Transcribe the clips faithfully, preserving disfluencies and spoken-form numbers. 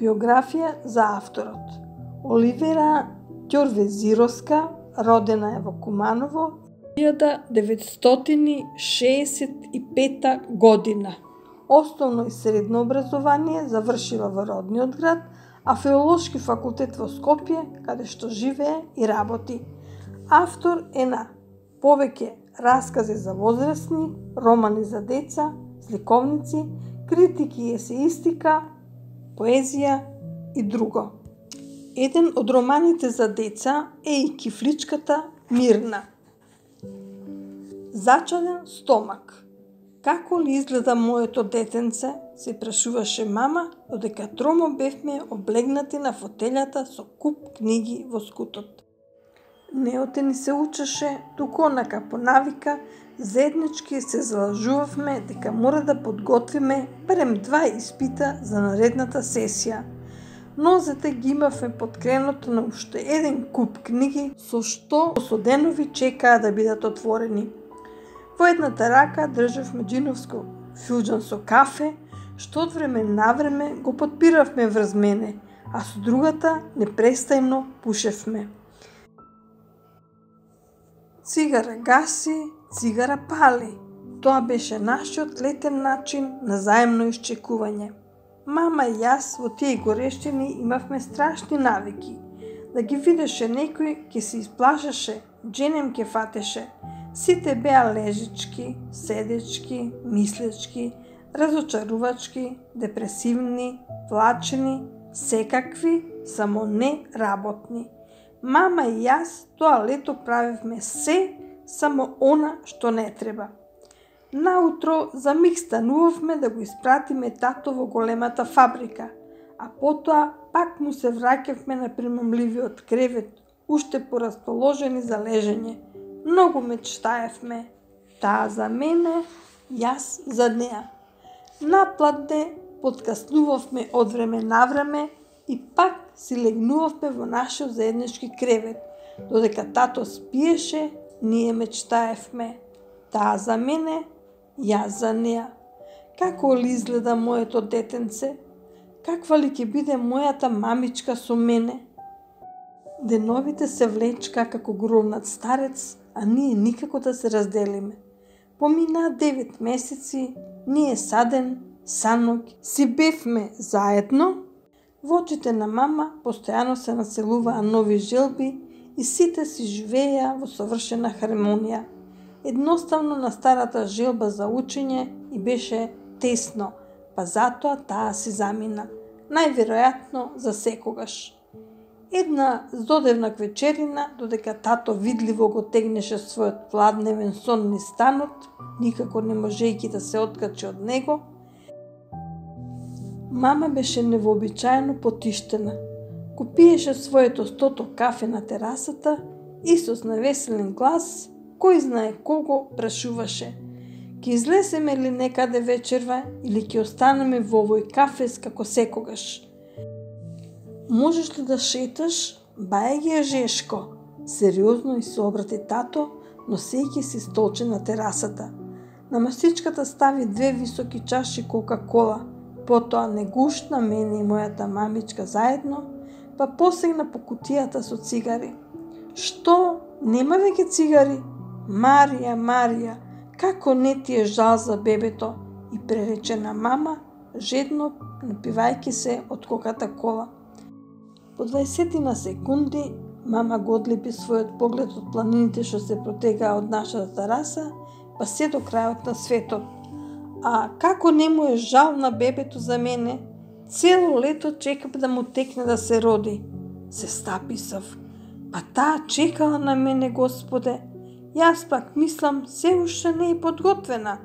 Биографија за авторот. Оливера Ѓорвезировска, родена е во Куманово, илјада деветстотини шеесет и пета година. Основно и средно образование завршила во родниот град, а Филолошки факултет во Скопје, каде што живее и работи. Автор е на повеќе раскази за возрастни, романи за деца, сликовници, критики и есеистика, поезија и друго. Еден од романите за деца е и Кифличката Мирна. Зачаден стомак. Како ли изгледа моето детенце, се прашуваше мама, додека тромо бевме облегнати на фотелјата со куп книги во скутот. Неоте ни се учеше, туку онака по навика, заеднички се залажувавме дека мора да подготвиме барем два испита за наредната сесија. Нозете ги имавме под креното на уште еден куп книги, со што со денови чекаа да бидат отворени. Во едната рака државме џиновско филџан со кафе, што од време на време го подпиравме врз мене, а со другата непрестајно пушевме. Цигара гаси, цигара пали. Тоа беше нашиот летен начин на заемно исчекување. Мама и јас во тие горештини имавме страшни навики. Да ги видеше некој, ке се исплашеше, дженем ке фатеше. Сите беа лежички, седечки, мислечки, разочарувачки, депресивни, влачени, секакви, само не работни. Мама и јас тоа лето правевме се, само она што не треба. Наутро за миг станувавме да го испратиме тато во големата фабрика, а потоа пак му се враќавме на примамливиот кревет, уште порасположени за лежење. Многу мечтаевме. Таа за мене, јас за неа. Напладне подкаснувавме од време на време и пак си легнувавме во нашиот заеднички кревет. Додека тато спиеше, ние мечтаевме. Таа за мене, јас за неа. Како ли изгледа моето детенце? Каква ли ќе биде мојата мамичка со мене? Деновите се влечка како гробнат старец, а ние никако да се разделиме. Поминаа девет месеци, ние саден, санок, си бевме заедно. Во очите на мама постојано се населуваа нови желби и сите си живееја во совршена хармонија. Едноставно на старата желба за учење и беше тесно, па затоа таа си замина. Најверојатно за секогаш. Една зодевна вечерина, додека тато видливо го тегнеше својот пладневен сон низ станот, никако не можејќи да се откачи од него, мама беше невообичаено потиштена. Го пиеше своето стото кафе на терасата и со навеселен глас, кој знае кого, прашуваше: ќе излеземе ли некаде вечерва или ќе останеме во овој кафес како секогаш? Можеш ли да шеташ? Баја ги е Жешко. Сериозно и се обрати тато, носејќи си столче на терасата. На масичката стави две високи чаши Кока-кола, потоа не гушна мене и мојата мамичка заедно, па посегна по кутијата со цигари. Што? Нема веќе цигари? Марија, Марија, како не ти е жал за бебето? И пререче на мама, жедно напивајќи се од Кока-кола. По дваесетина секунди мама го одлепи својот поглед од планините што се протегаа од нашата тераса, па се до крајот на светот. А како не му е жал на бебето за мене? Цело лето чекам да му текне да се роди. Се стаписав. Па таа чекала на мене, Господе. Јас пак мислам, се уште не е подготвена.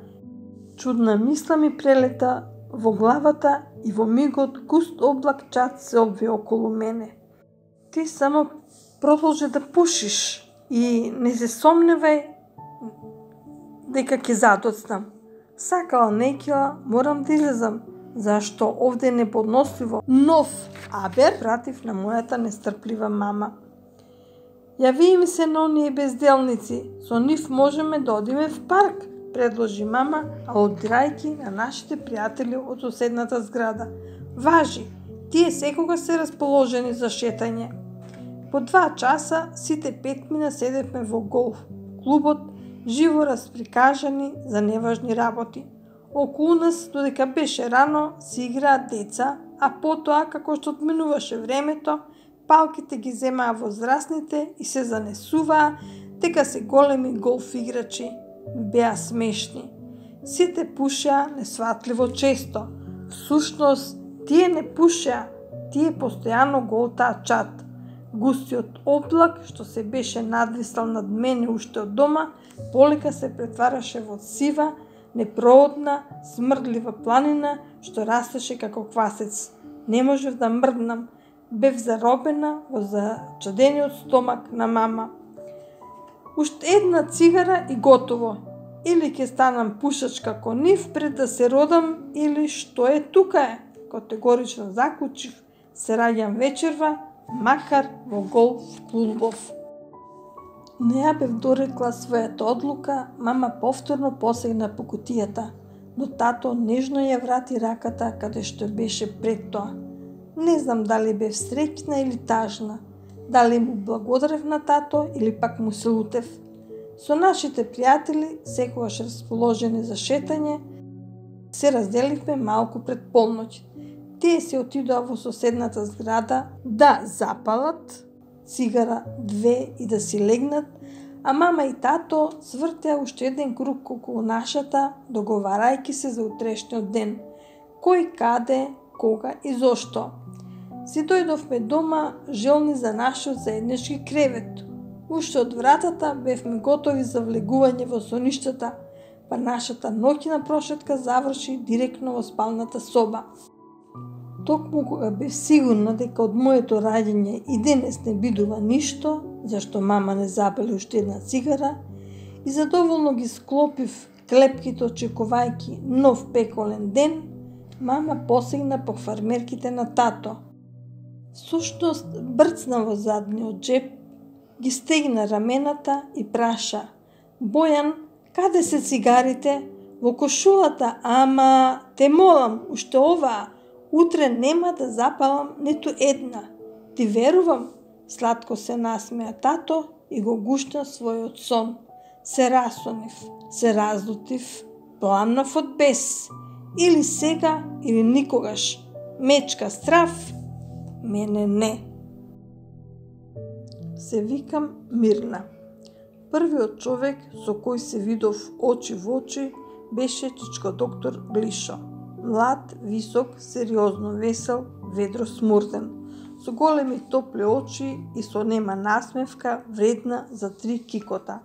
Чудна мисла ми прелета во главата и во мигот густ облак чад се обви околу мене. Ти само продолжи да пушиш и не се сомневај дека ќе задоцнам. Сакала некила, морам да излезам, зашто овде е неподносливо. Нов абер пратив на мојата нестрплива мама. Јави ми се на оние безделници, со нив можеме да одиме в парк, предложи мама, алудирајќи на нашите пријатели од соседната зграда. Важи, Тие секогаш се расположени за шетање. По два часа сите петмина седевме во голф клубот, живо расприкажани за неважни работи. Околу нас, додека беше рано, се играат деца, а потоа, како што одминуваше времето, палките ги земаа возрастните и се занесуваа дека се големи голф играчи. Беа смешни. Сите пушеа несватливо често. Всушност, тие не пушеа, тие постојано голтаа чат. Густиот облак, што се беше надвисал над мене уште од дома, полека се претвараше во сива, непроодна, смрдлива планина, што растеше како квасец. Не можев да мрднам, бев заробена во зачудениот стомак на мама. Уште една цигара и готово. Или ќе станам пушач како нив пред да се родам, или што е тука е. Категорично заклучив, се раѓам вечерва, макар во голф клубов. Не ја бев дорекла својата одлука, мама повторно посегна по кутијата, но тато нежно ја врати раката каде што беше пред тоа. Не знам дали бев среќна или тажна, дали му благодарев на тато или пак му се лутев. Со нашите пријатели, секогаш расположени за шетање, се разделивме малку пред полноќ. Тие се отидоа во соседната зграда да запалат цигара две и да си легнат, а мама и тато свртеа уште еден круг околу нашата, договарајќи се за утрешниот ден. Кој, каде, кога и зошто. Си дојдовме дома желни за нашиот заеднички кревет. Уште од вратата бевме готови за влегување во соништата, па нашата ноќна прошетка заврши директно во спалната соба. Токму кога бев сигурна дека од моето раѓање и денес не бидува ништо, зашто мама не запали уште една цигара, и задоволно ги склопив клепките очекувајќи нов пеколен ден, мама посегна по фармерките на тато. Всушност брцна во задниот джеб, ги стегна рамената и праша: "Бојан, каде се цигарите?" "Во кошулата, ама те молам, уште оваа. Утре нема да запалам ниту една. Ти верувам?" Сладко се насмеа тато и го гушна својот сон. Се расонив, се разлутив, пламнав од бес. Или сега, или никогаш. Мечка страв, мене не. Се викам Мирна. Првиот човек со кој се видов очи во очи беше чичко доктор Глишо. Млад, висок, сериозно весел, ведро смурден, со големи топли очи и со нема насмевка вредна за три кикота,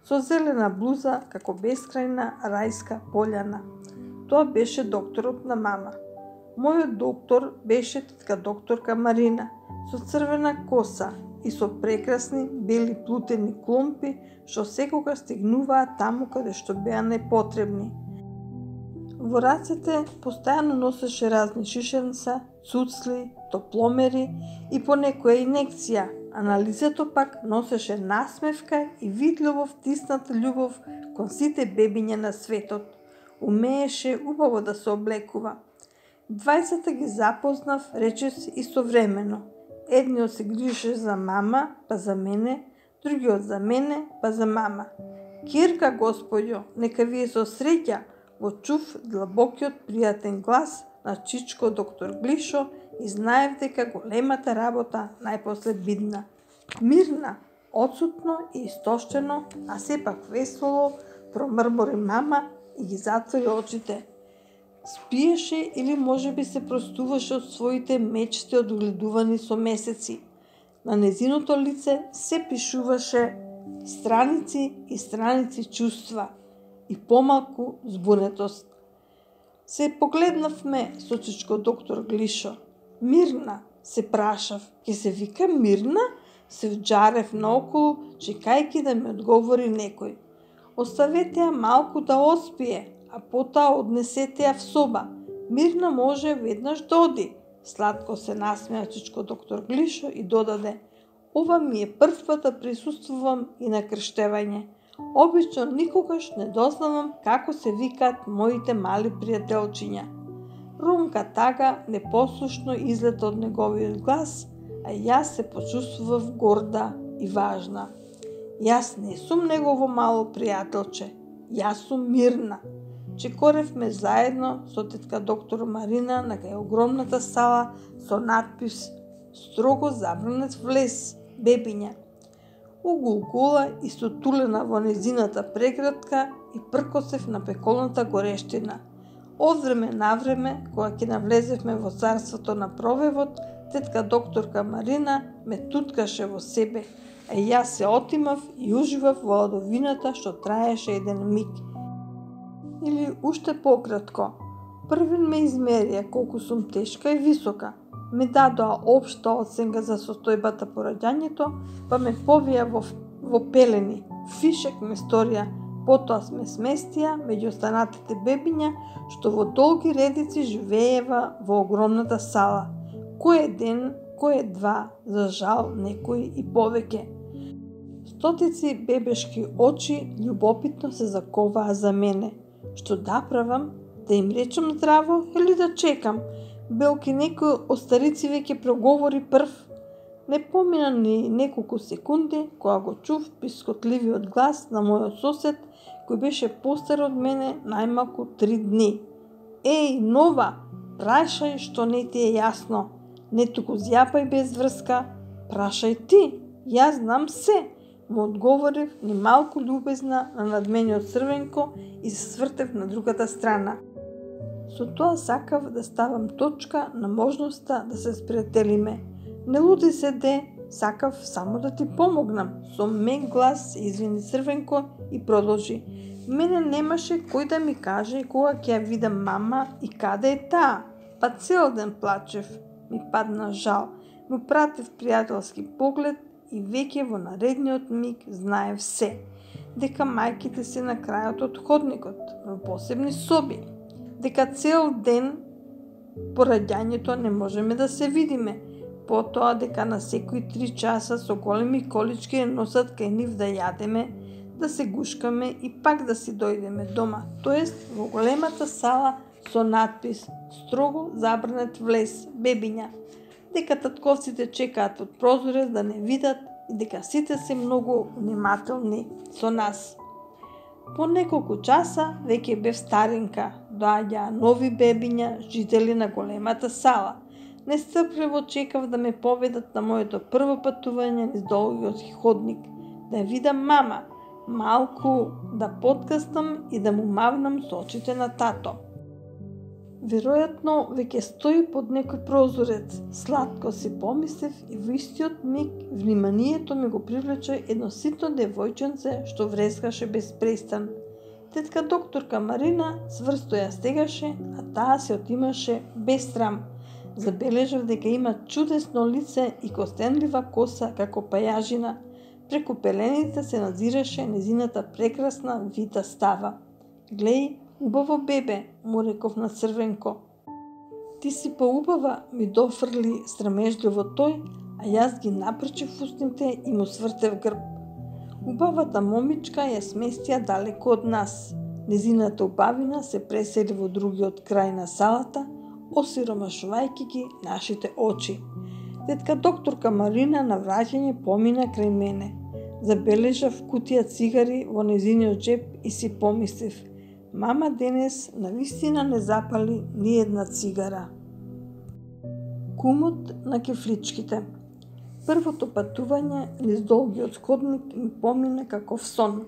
со зелена блуза како бескрајна рајска пољана. Тоа беше докторот на мама. Мојот доктор беше тетка докторка Марина, со црвена коса и со прекрасни бели плутени кломпи, што секогаш стигнуваа таму каде што беа непотребни. Во рацете постојано носеше разни шишенца, цуцли, топломери и по некоја инекција, а на лицето пак носеше насмевка и видливо втисната љубов кон сите бебиња на светот. Умееше убаво да се облекува. Двајцата ги запознав речиси истовремено. Едниот се грижеше за мама, па за мене, другиот за мене, па за мама. "Кирка, господјо, нека вие со среќа", го чув длабокиот пријатен глас на чичко доктор Глишо и знаев дека големата работа најпосле бидна. Мирна, одсутно и истоштено, а сепак весело, промрмори мама и ги затвори очите. Спиеше или можеби се простуваше од своите мечти одгледувани со месеци. На незиното лице се пишуваше страници и страници чувства и помалку збунетост. Се погледнавме со чичко доктор Глишо. "Мирна?" се прашав. "Ке се вика Мирна?" Се вџарев наоколу, чекајќи да ми одговори некој. "Оставете ја малку да оспие, а потоа однесете ја в соба. Мирна може веднаш да оди." Сладко се насмеа чичко доктор Глишо и додаде: "Ова ми е прв пат да присуствувам и на крштевање. Обично никогаш не дознавам како се викаат моите мали пријателчиња." Румка тага непослушно излета од неговиот глас, а јас се почувствував горда и важна. Јас не сум негово мало пријателче, јас сум Мирна. Чекоревме заедно со тетка доктор Марина на кај огромната сала со надпис "Строго забранет влез, бебиња". Угулгула и сотулена во незината преградка и пркосев на пеколната горештина. Од време на време, кога ќе навлезевме во царството на провевот, тетка докторка Марина ме туткаше во себе, а јас се отимав и уживав во ладовината што траеше еден миг. Или уште пократко, првен ме измерија колку сум тешка и висока, ме дадоа општа оценка за состојбата по раѓањето, па ме повија во, во пелени, фишек ме сторија, потоа сме сместија меѓу останатите бебиња што во долги редици живеева во огромната сала. Кој ден, кој два, за жал некои и повеќе. Стотици бебешки очи љубопитно се заковаа за мене. Што да правам? Да им речам здраво или да чекам? Белки некој од старици веќе проговори прв. Не помина ни неколку секунди кога го чув пискотливиот глас на мојот сосед кој беше постар од мене најмалку три дни. Еј, нова, прашај што не ти е јасно. Не туку зјапај без врска, прашај ти, јас знам се, му одговорив ни малку љубезна на надмениот Црвенко и се свртев на другата страна. Со тоа сакав да ставам точка на можноста да се спријателиме. Не луди се де, сакав само да ти помогнам, со мек глас се извини Црвенко и продолжи. Мене немаше кој да ми каже кога ќе ја видам мама и каде е таа, па цел ден плачев. Ми падна жал, му пратив пријателски поглед и веќе во наредниот миг знаев се, дека мајките се на крајот од ходникот, во посебни соби, дека цел ден по раѓањето не можеме да се видиме, потоа дека на секои три часа со големи колички носат кај нив да јадеме, да се гушкаме и пак да си дојдеме дома, тоест во големата сала со надпис "Строго забранет влез, бебиња", дека татковците чекаат од прозорец да не видат и дека сите се многу внимателни со нас. По неколку часа веќе бев старинка, доаѓаа нови бебиња, жители на големата сала. Нестрпливо чекав да ме поведат на моето прво патување низ долгиот ходник, да ја видам мама, малку да подкаснам и да му мавнам со очите на тато. Веројатно веќе стои под некој прозорец, сладко си помислев и во истиот миг вниманието ми го привлече едно ситно девојченце што врескаше без престан. Тетка докторка Марина цврсто ја стегаше, а таа се отимаше без срам. Забележав дека има чудесно лице и костенлива коса како пајажина. Преку пелените се назираше незината прекрасна вита става. Глеј, убаво бебе, му реков на Црвенко. Ти си поубава, ми дофрли срамежливо тој, а јас ги напрчив устните и му свртев грб. Убавата момичка ја сместија далеко од нас. Незината убавина се пресели во другиот крај на салата, осиромашувајќи ги нашите очи. Тетка докторка Марина на враќање помина крај мене. Забележав кутија цигари во незиниот джеб и си помислив: мама денес навистина не запали ни една цигара. Кумот на кефличките. Првото патување низ долгиот ходник ми помина каков сон.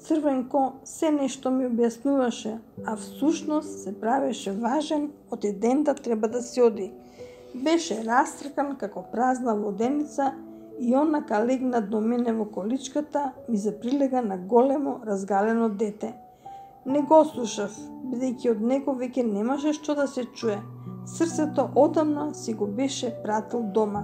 Црвенко се нешто ми објаснуваше, а всушност се правеше важен од еден да треба да се оди. Беше растркан како празна воденица и онака легнат до мене во количката ми заприлега на големо разгалено дете. Не го слушав, бидејќи од него веќе немаше што да се чуе. Срцето одамна си го беше пратил дома.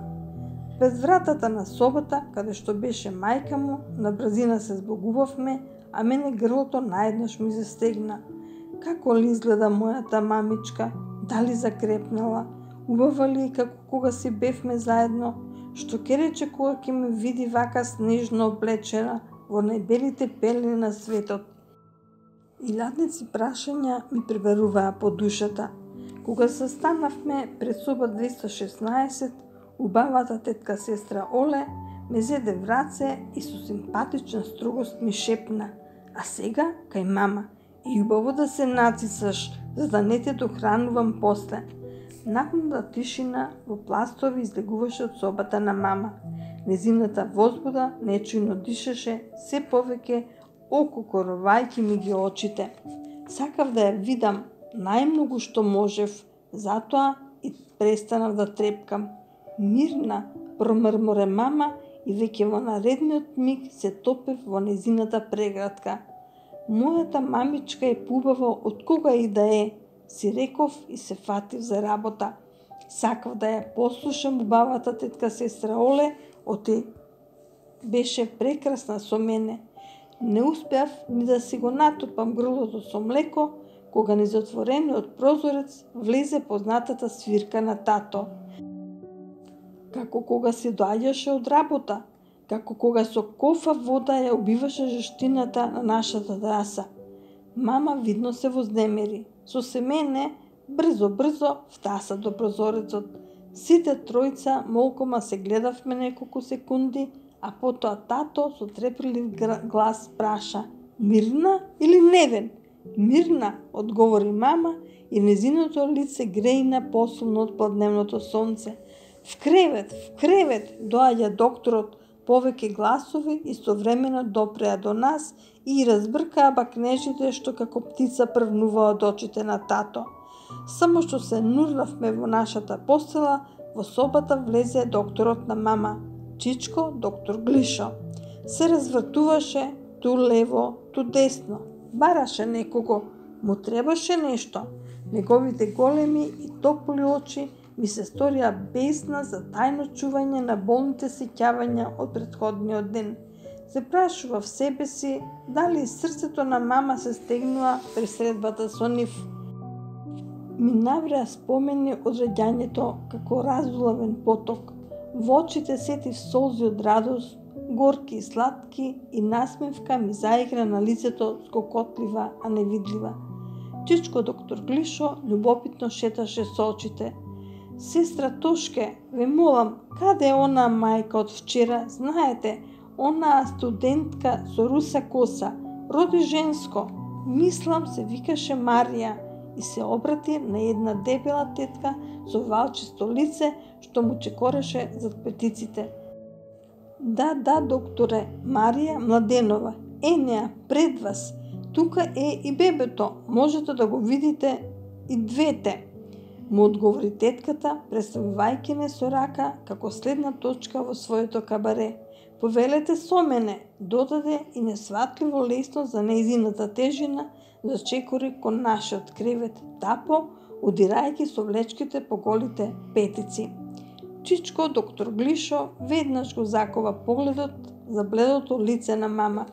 Пред вратата на собата, каде што беше мајка му, на брзина се збогувавме, а мене грлото наеднаш ми застегна. Како ли изгледа мојата мамичка? Дали закрепнала? Убава ли како кога си бевме заедно? Што ке рече кога ќе ме види вака снежно облечена во најбелите пелени на светот? Илјадници прашања ми пребаруваа по душата. Кога се станавме пред соба двеста шеснаесет, убавата тетка сестра Оле ме зеде в раце и со симпатична строгост ми шепна: а сега кај мама, и убаво да се нацисаш, за да не те дохранувам после. Напнута тишина во пластови излегуваше од собата на мама. Незината возбуда нечујно дишеше се повеќе, ококорувајќи ми ги очите. Сакав да ја видам најмногу што можев, затоа и престанав да трепкам. Мирна, промрморе мама и веќе во наредниот миг се топев во незината прегратка. Мојата мамичка е поубава од кога и да е, си реков и се фатив за работа. Сакав да ја послушам убавата тетка сестра Оле, оти беше прекрасна со мене. Не успеав ни да си го натопам грлото со млеко, кога низ отворениот прозорец влезе познатата свирка на тато. Како кога се доаѓаше од работа, како кога со кофа вода ја убиваше жештината на нашата тераса. Мама видно се вознемери. Со семене, брзо-брзо втаса до прозорецот. Сите тројца молкома се гледавме неколку секунди, а потоа тато со трепелив глас праша: Мирна или Невен? Мирна, одговори мама и незиното лице греина посилно од подневното сонце. В кревет, в кревет, доаѓа докторот. Повеќе гласови истовремено допреа до нас и разбркаа бакнежите што како птица првнуваа од очите на тато. Само што се нурлавме во нашата постела, во собата влезе докторот на мама, Чичко доктор Глишо. Се развртуваше ту лево, ту десно. Бараше некого, му требаше нешто. Неговите големи и топли очи ми се сторија бесна за тајно чување на болните сеќавања од претходниот ден. Се прашува в себе си дали срцето на мама се стегнува при средбата со нив. Ми навреа спомени од раѓањето како разулавен поток. Во очите сетив солзи од радост, горки и сладки, и насмевка ми заигра на лицето скокотлива, а невидлива. Чичко доктор Глишо љубопитно шеташе со очите. Сестра Тошке, ве молам, каде е она мајка од вчера? Знаете, она студентка со руса коса, роди женско. Мислам се викаше Марија и се обрати на една дебела тетка со валчисто лице што му чекореше зад петиците. Да, да, докторе, Марија Младенова, е неа пред вас. Тука е и бебето, можете да го видите и двете. Му одговори тетката, представувајќи не со рака како следна точка во своето кабаре. Повелете со мене, додаде и несватливо лесно за нејзината тежина зачекори кон нашиот кревет тапо, удирајќи со влечките по голите петици. Чичко доктор Глишо веднаш го закова погледот за бледото лице на мама.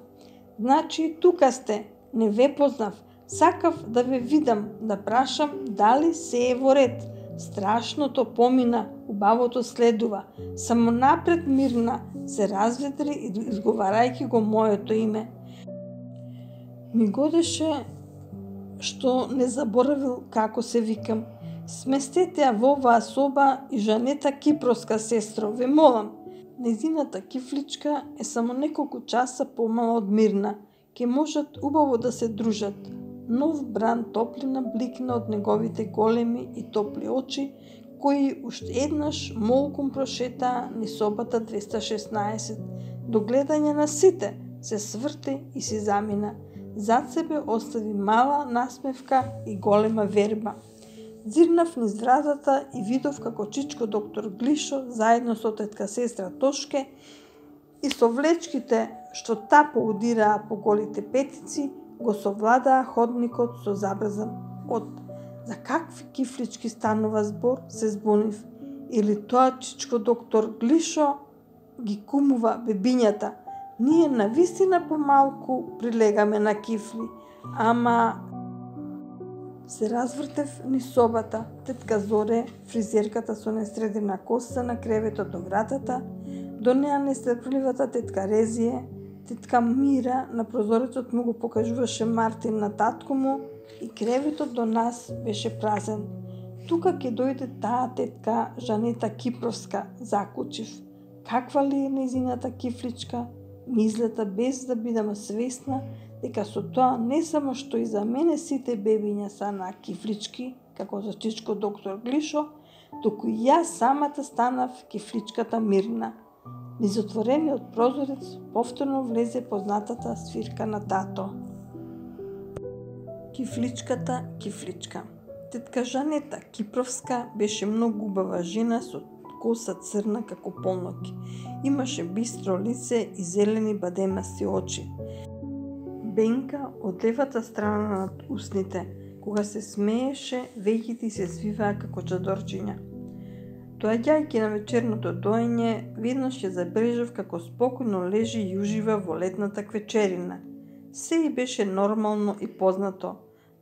Значи, тука сте, не ве познав. Сакав да ве видам, да прашам дали се е во ред. Страшното помина, убавото следува. Само напред Мирна се разведри изговарајќи го моето име. Ми годеше што не заборавил како се викам. Сместете ја во оваа соба и Жанета Кипроска, сестро, ве молам. Незината кифличка е само неколку часа помала од Мирна. Ке можат убаво да се дружат. Нов бран топлина бликна од неговите големи и топли очи, кои уште еднаш молком прошетаа низ собата двеста шеснаесет. До гледање на сите се сврте и си замина. Зад себе остави мала насмевка и голема верба. Зирнав низ вратата и видов како Чичко доктор Глишо заедно со тетка сестра Тошке и со влечките што тапо удираа по голите петици го совладаа ходникот со забрзан од. За какви кифлички станува збор, се збунив. Или тоа Чичко доктор Глишо ги кумува бебињата. Ние навистина помалку прилегаме на кифли, ама... Се развртев низ собата. Тетка Зоре, фризерката со несредена коса на креветот до вратата, до неа нестрпливата тетка Резие, тетка Мира на прозорецот му го покажуваше Мартин на татко му и креветот до нас беше празен. Тука ќе дојде таа тетка Жанета Кипровска, закучив. Каква ли е нејзината кифличка? Мислета без да бидам свесна дека со тоа не само што и за мене сите бебиња са на кифлички, како за чичко доктор Глишо, туку и јас самата станав кифличката Мирна. Низ отворениот прозорец повторно влезе познатата свирка на тато. Кифличката Кифличка. Тетка Жанета Кипровска беше многу убава жена со коса црна како полноќ. Имаше бистро лице и зелени бадемасти очи. Бенка од левата страна над устните, кога се смееше, веќите се свиваа како чадорчиња. Доаѓајќи на вечерното доење, веднаш ја забележав како спокојно лежи и ужива во летната квечерина. Се и беше нормално и познато.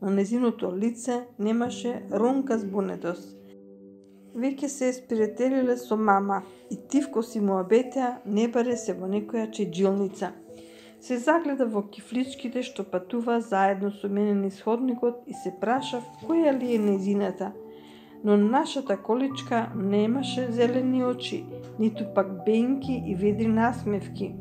На незиното лице немаше ронка збунетост. Веќе се еспиретелиле со мама и тивко си му обетеа не баре се во некоја чеджилница. Се загледа во кифличките што патуваа заедно со мене низ ходникот и се прашав која ли е незината. Но нашата количка немаше зелени очи, ниту пак бенки и ведри насмевки.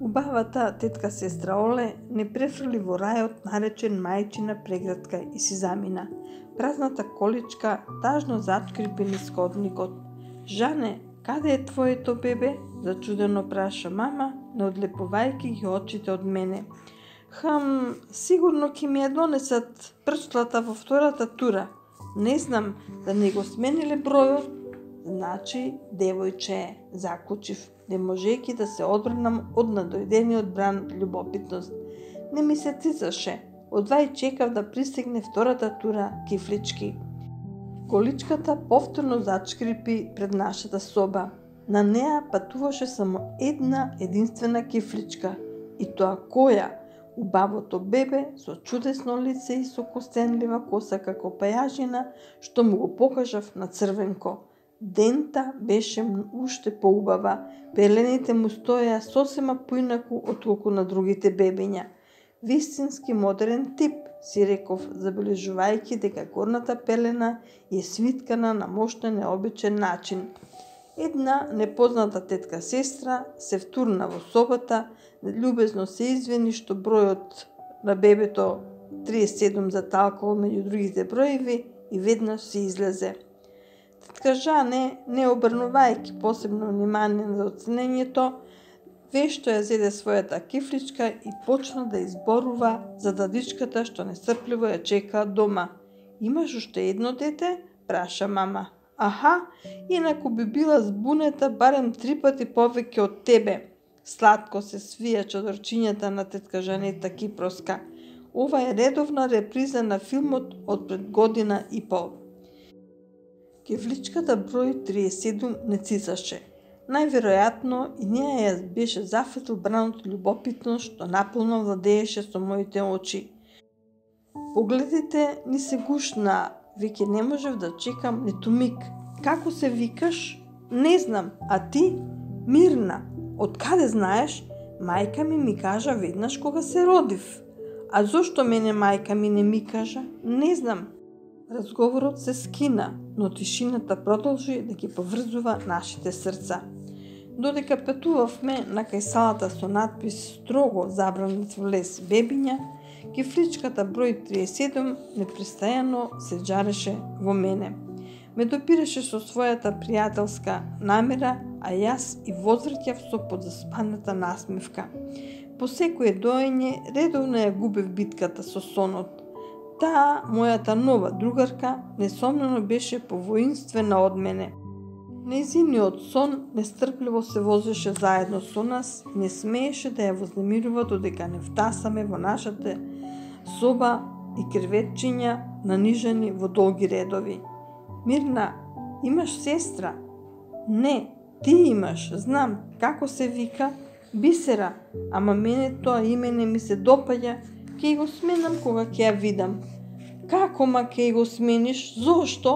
Убавата тетка сестра Оле не префрли во рајот наречен мајчина преградка и си замина. Празната количка тажно зачкрипи низ ходникот. Жане, каде е твоето бебе? Зачудено праша мама, не одлепувајќи ги очите од мене. Хм, сигурно ќе ми ја донесат прчлата во втората тура. Не знам, да не го смениле бројот. Значи, девојче е, закучив, не можејќи да се одбранам од надојдениот бран љубопитност. Не ми се цицаше, одвај чекав да пристигне втората тура кифлички. Количката повторно зачкрипи пред нашата соба. На неа патуваше само една единствена кифличка. И тоа која? Убавото бебе со чудесно лице и со костенлива коса како пајажина, што му го покажав на црвенко. Дента беше уште поубава, пелените му стоеа сосема поинаку отколку на другите бебиња. Вистински модерен тип, си реков, забележувајќи дека горната пелена е свиткана на мощен необичен начин. Една непозната тетка сестра се втурна во собата, љубезно се извини што бројот на бебето триесет и седум заталкал меѓу другите броеви и веднаш се излезе. Тетка Жане, не обрнувајќи посебно внимание на оценењето, вешто ја зеде својата кифличка и почна да изборува за дадичката што нестрпливо ја чека дома. Имаш уште едно дете? Праша мама. Аха, инаку би била збунета барем три пати повеќе од тебе. Сладко се свија чадорчињата на тетка Жанета Кипровска. Ова е редовна реприза на филмот од пред година и пол. Кифличката број триесет и седум не цицаше. Најверојатно и неја ја беше зафатил бранот љубопитност што наполно владееше со моите очи. Погледите ни се гушнаа, веќе не можев да чекам ниту миг. Како се викаш? Не знам, а ти? Мирна. Од каде знаеш? Мајка ми ми кажа веднаш кога се родив. А зошто мене мајка ми не ми кажа? Не знам. Разговорот се скина, но тишината продолжи да ги поврзува нашите срца. Додека петувавме на кај салата со надпис строго забранет влез бебиња, кифличката број триесет и седум непрестојано се джареше во мене. Ме допираше со својата пријателска намера, а јас и возвраќав со подзаспаната насмевка. По секое доење редовно ја губев битката со сонот. Таа, мојата нова другарка, несомнено беше повоинствена од мене. Нејзиниот сон нестрпливо се возеше заедно со нас и не смееше да ја вознемирува додека не втасаме во нашата соба и креветчиња нанижани во долги редови. Мирна, имаш сестра? Не, ти имаш, знам, како се вика? Бисера, ама мене тоа име не ми се допаѓа, ќе го сменам кога ќе ја видам. Како ма ќе го смениш? Зошто?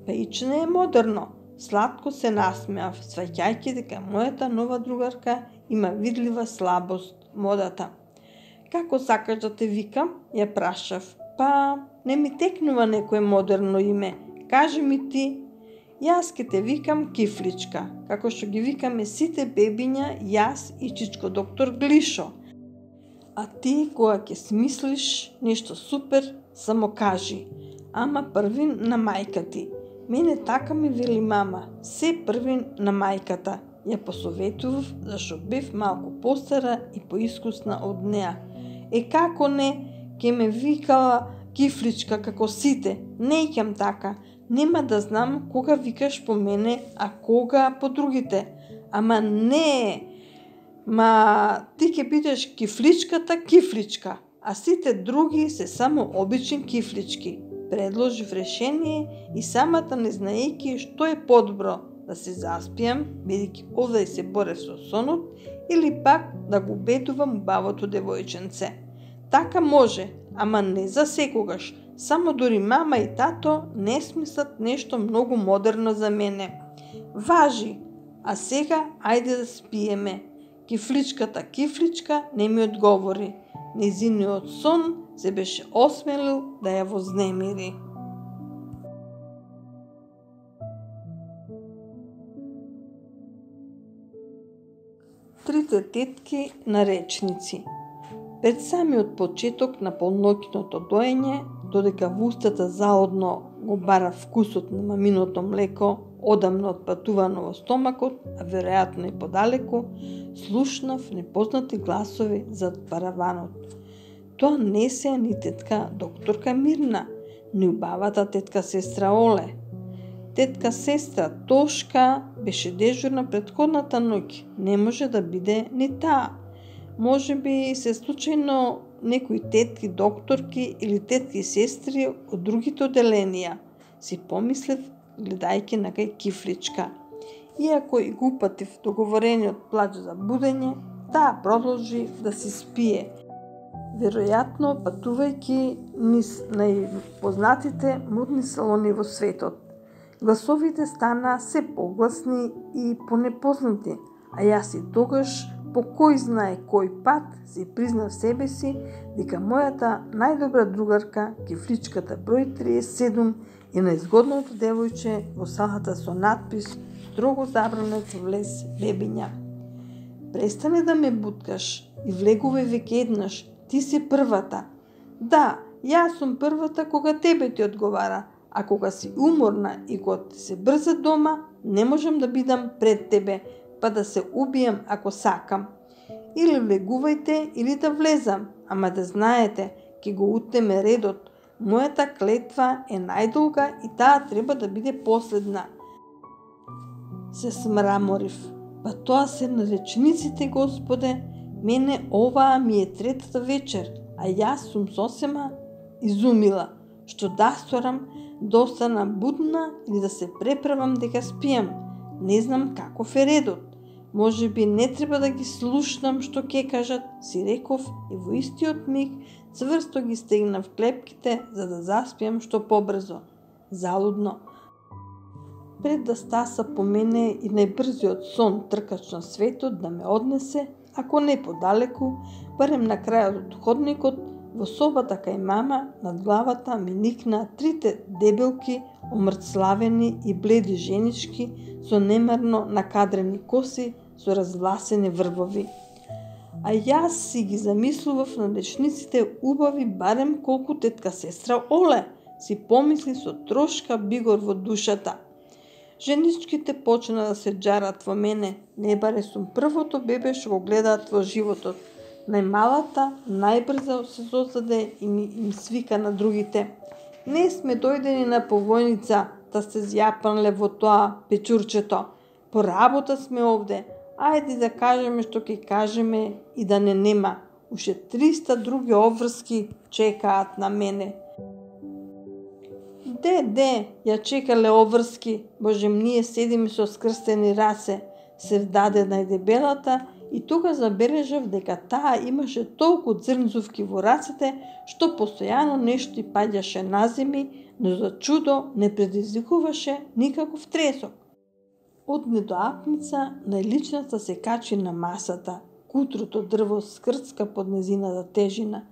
Пејче е модерно. Сладко се насмеав, сваќајќи дека мојата нова другарка има видлива слабост, модата. Како сакаш да те викам? Ја прашав. Па, не ми текнува некое модерно име. Кажи ми ти. Јас ке те викам Кифличка, како што ги викаме сите бебиња, јас и чичко доктор Глишо. А ти, кога ќе смислиш нешто супер, само кажи. Ама први на мајка ти. Мене така ми вели мама, се први на мајката. Ја посоветував, зашто бев малку постара и поискусна од неа. Е како не, ке ме викала Кифличка како сите. Не икам така. Нема да знам кога викаш по мене, а кога по другите. Ама не, ма ти ќе бидеш Кифличката Кифличка, а сите други се само обични кифлички. Предложив решение и самата не знаејќи што е подобро, да се заспијам, бидејќи овде се борев со сонот, или пак да го убедувам убавото девојченце. Така може, ама не за секогаш. Само дури мама и тато не смислат нешто многу модерно за мене. Важи, а сега ајде да спиеме. Кифличката Кифличка не ми одговори. Незиниот сон се беше осмелил да ја вознемири. Трите тетки на речници. Пред самиот почеток на полноќното доење, додека во устата заодно го бара вкусот на маминото млеко, одамно отпатувано во стомакот, а веројатно и подалеку, слушнав непознати гласови зад параванот. Тоа не се ни тетка докторка Мирна, ни убавата тетка сестра Оле. Тетка сестра Тошка беше дежурна претходната ноќ, не може да биде ни таа. Може би се случајно некои тетки докторки или тетки сестри од другите оделенија, си помислев гледајќи на кај Кифличка. Иако и го упатив договорениот плач за будење, таа продолжи да си спие. Веројатно патувајќи низ најпознатите модни салони во светот. Гласовите стана се погласни и понепознати, а јас и тогаш по кој знае кој пат си признав себе си дека мојата најдобра другарка, Кифличката број триесет и седум, е најзгодното девојче во салата со надпис "Строго забранет во влез бебиња". Престани да ме буткаш и влегувај веќе еднаш, ти си првата. Да, јас сум првата кога тебе ти одговара, а кога си уморна и кога ти се брза дома, не можам да бидам пред тебе, па да се убијам ако сакам. Или влегувајте, или да влезам, ама да знаете, ќе го утнеме редот. Мојата клетва е најдолга и таа треба да биде последна. Се смраморив. Па тоа се на речниците, Господе. Мене оваа ми е третата вечер, а јас сум сосема изумила. Што да сторам, да остана будна или да се преправам дека спијам. Не знам каков е редот. Може би не треба да ги слушнам што ќе кажат, си реков и во истиот миг цврсто ги стегнав клепките за да заспиам што побрзо. Залудно. Пред да стаса по мене и најбрзиот сон тркач на светот да ме однесе, ако не подалеку, барем на крајот од ходникот, во собата кај мама, над главата ми никнаа трите дебелки, омртславени и бледи женички со немарно накадрени коси, со развласени врбови. А јас си ги замислував на речниците убави барем колку тетка сестра Оле, си помисли со трошка бигор во душата. Женичките почна да се џарат во мене, не баре сум првото бебе што го гледаат во животот. Најмалата, најбрзо се создаде и ми им свика на другите. Не сме дојдени на повојница, да се зјапанле во тоа печурчето. По работа сме овде. Ајде да кажеме што ќе кажеме и да не нема. Уште триста други обврски чекаат на мене. Де, де, ја чекале обврски, божем, ние седиме со скрстени раце, се вдаде најдебелата и тука забележав дека таа имаше толку црнзувки во рацете, што постојано нешто и паѓаше на земи, но за чудо не предизвикуваше никаков тресок. Од недоапница најличната се качи на масата, кутрото дрво скрцка под незината тежина.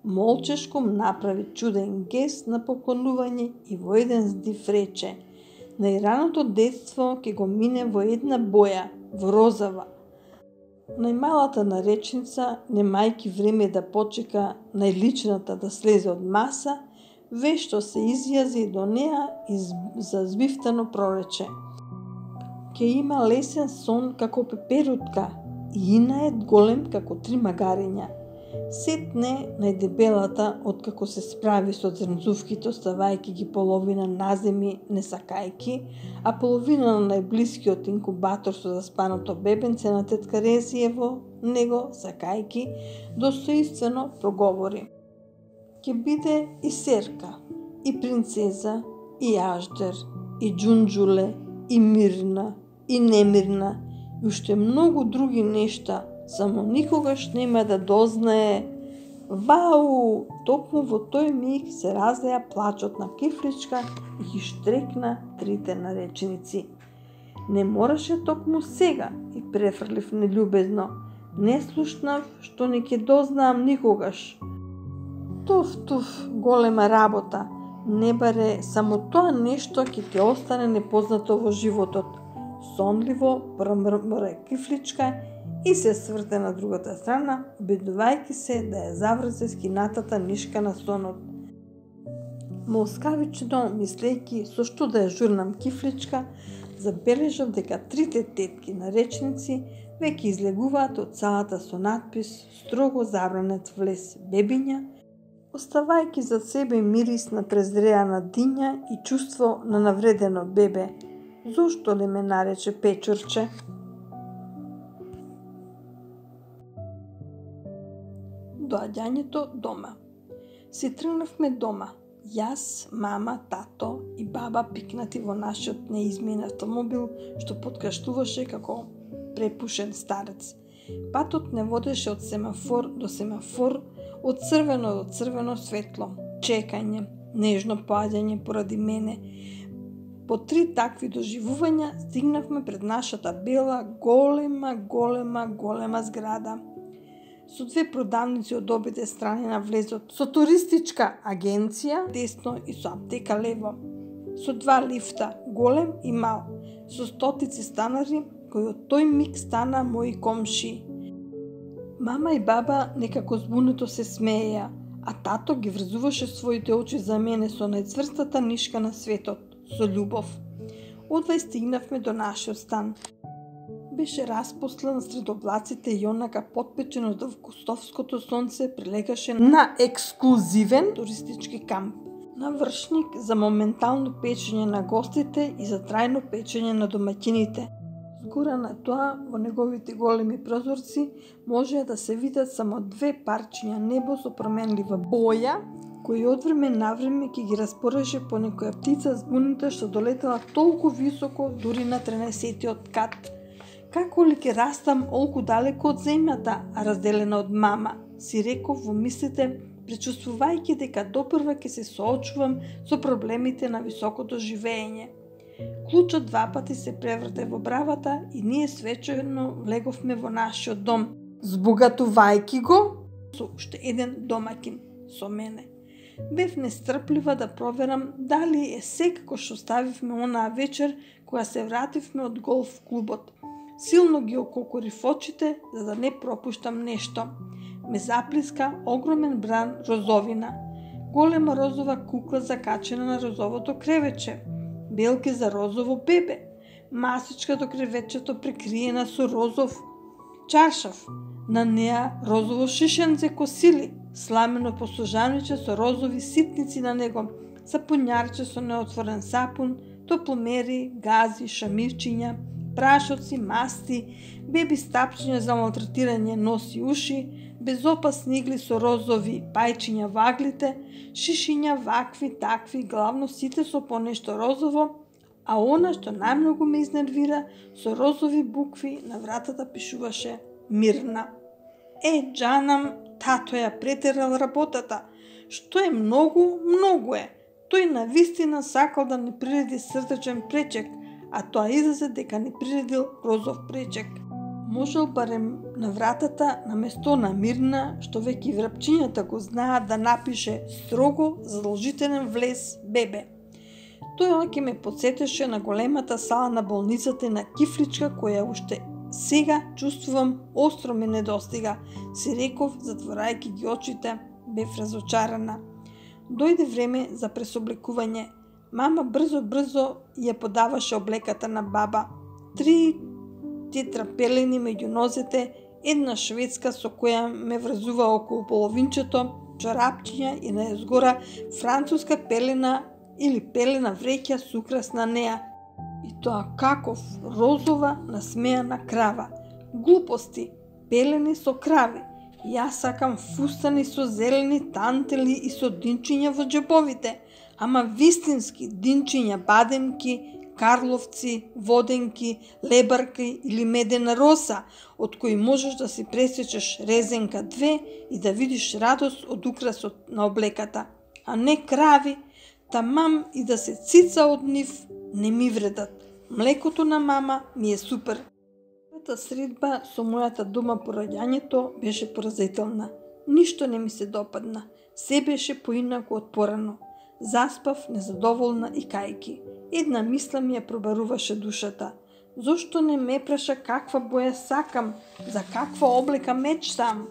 молчешко направи чуден гест на поклонување и во еден здив рече: најраното детство ќе го мине во една боја, во розава. Најмалата наречница, немајки време да почека најличната да слезе од маса, вешто се изјази до неа и зазбивтано прорече: ќе има лесен сон како пеперутка и инаед голем како три магариња. Сетне најдебелата, откако се справи со зрнцувките, оставајќи ги половина наземи не сакајки, а половина на најблискиот инкубатор со заспаното бебенце на тетка Резие во него сакајки, достоинствено проговори: ќе биде и Серка, и принцеза, и Аждер, и Џунџуле, и Мирна, и Немирна, и уште многу други нешта, само никогаш нема да дознае. Вау! Токму во тој миг се разлеа плачот на Кифличка и ги штрекна трите нареченици. Не мораше токму сега, и префрлив нељубезно. Не слушнав, што не ќе дознаам никогаш. Туф, туф, голема работа. Не баре само тоа нешто ќе ти остане непознато во животот. Сонливо промрмре Кифличка и се сврте на другата страна, обидувајќи се да ја заврзе скинатата нишка на сонот. Молскавично мислејќи со што да ја журнам Кифличка, забележав дека трите тетки наречници веќе излегуваат од салата со надпис "Строго забранет влез бебиња", оставајќи за себе мирис на презреана диња и чувство на навредено бебе. Зошто ли ме нарече Печурче? Доаѓањето дома. Си тргнавме дома. Јас, мама, тато и баба пикнати во нашиот неизмен автомобил, што подкаштуваше како препушен старец. Патот не водеше од семафор до семафор, од црвено до црвено светло. Чекање, нежно поаѓање поради мене. По три такви доживувања стигнавме пред нашата бела, голема, голема, голема зграда. Со две продавници од обидve страни на влезот, со туристичка агенција десно и со аптека лево, со два лифта, голем и мал, со стотици станари кои од тој миг стана мои комши. Мама и баба некако збунето се смееја, а тато ги врзуваше своите очи за мене со најцврстата нишка на светот, со љубов. Одвај стигнавме до нашиот стан. Беше распослан сред облаците и онака потпечен од августовското сонце прилегаше на ексклузивен туристички камп. Навршник за моментално печење на гостите и за трајно печење на домаќините. Згора на тоа, во неговите големи прозорци, можеа да се видат само две парчиња небо со променлива боја, кои од време на време ќе ги распореше по некоја птица збунита што долетела толку високо дури на тринесеттиот кат. Како ли ќе растам олку далеко од земјата, а разделена од мама, си реков во мислите, пречувствувајќи дека допрва ќе се соочувам со проблемите на високото живеење. Клучот два пати се преврте во бравата и ние свечено влеговме во нашиот дом, збогатувајќи го со уште еден домаќин, со мене. Бев нестрплива да проверам дали е се како што ставивме онаа вечер кога се вративме од голф клубот. Силно ги ококорив очите за да не пропуштам нешто. Ме заплиска огромен бран розовина. Голема розова кукла закачена на розовото кревече. Белки за розово бебе. Масичка до кревечето прекриена со розов чаршав. На неа розово шишенце косили. Сламено посложаниче со розови ситници на него. Сапунјарче со неотворен сапун. Топломери, гази, шамирчиња, прашоци, масти, беби стапчиња за малтретирање нос и уши, безопасни игли со розови пајчиња во аглите, шишиња вакви, такви, главно сите со понешто розово, а она што најмногу ме изнервира, со розови букви на вратата пишуваше Мирна. Е, џанам, тато ја претерал работата. Што е многу, многу е. Тој навистина сакал да не приреди срдечен пречек, а тоа излезе дека не приредил розов пречек. можел барем на вратата на место на Мирна, што веќе врапчињата го знаат, да напише строго задолжителен влез бебе. Тоа ќе ме подсетеше на големата сала на болницата на Кифличка, која уште сега чувствувам остро ме недостига, си реков, затворајќи ги очите, бев разочарана. Дојде време за пресоблекување. Мама брзо-брзо ја подаваше облеката на баба. Три тетрапелени меѓу нозете, една шведска со која ме врзува околу половинчето, чорапчиња и најзгора француска пелена или пелена вреќа с украс на неа. И тоа каков, розова, насмејана крава. Глупости, пелени со крави. Јас сакам фустани со зелени тантели и со динчиња во џебовите, ама вистински динчиња, бадемки, карловци, воденки, лебарки или медена роса, од кои можеш да си пресечеш резенка две и да видиш радост од украсот на облеката, а не крави, тамам и да се цица од нив не ми вредат. Млекото на мама ми е супер. Првата средба со мојата дома по раѓањето беше поразителна. Ништо не ми се допадна. Се беше поинаку од порано. Заспав незадоволна и кајки. Една мисла ми ја пробаруваше душата. Зошто не ме праша каква боја сакам, за каква облека мечтам?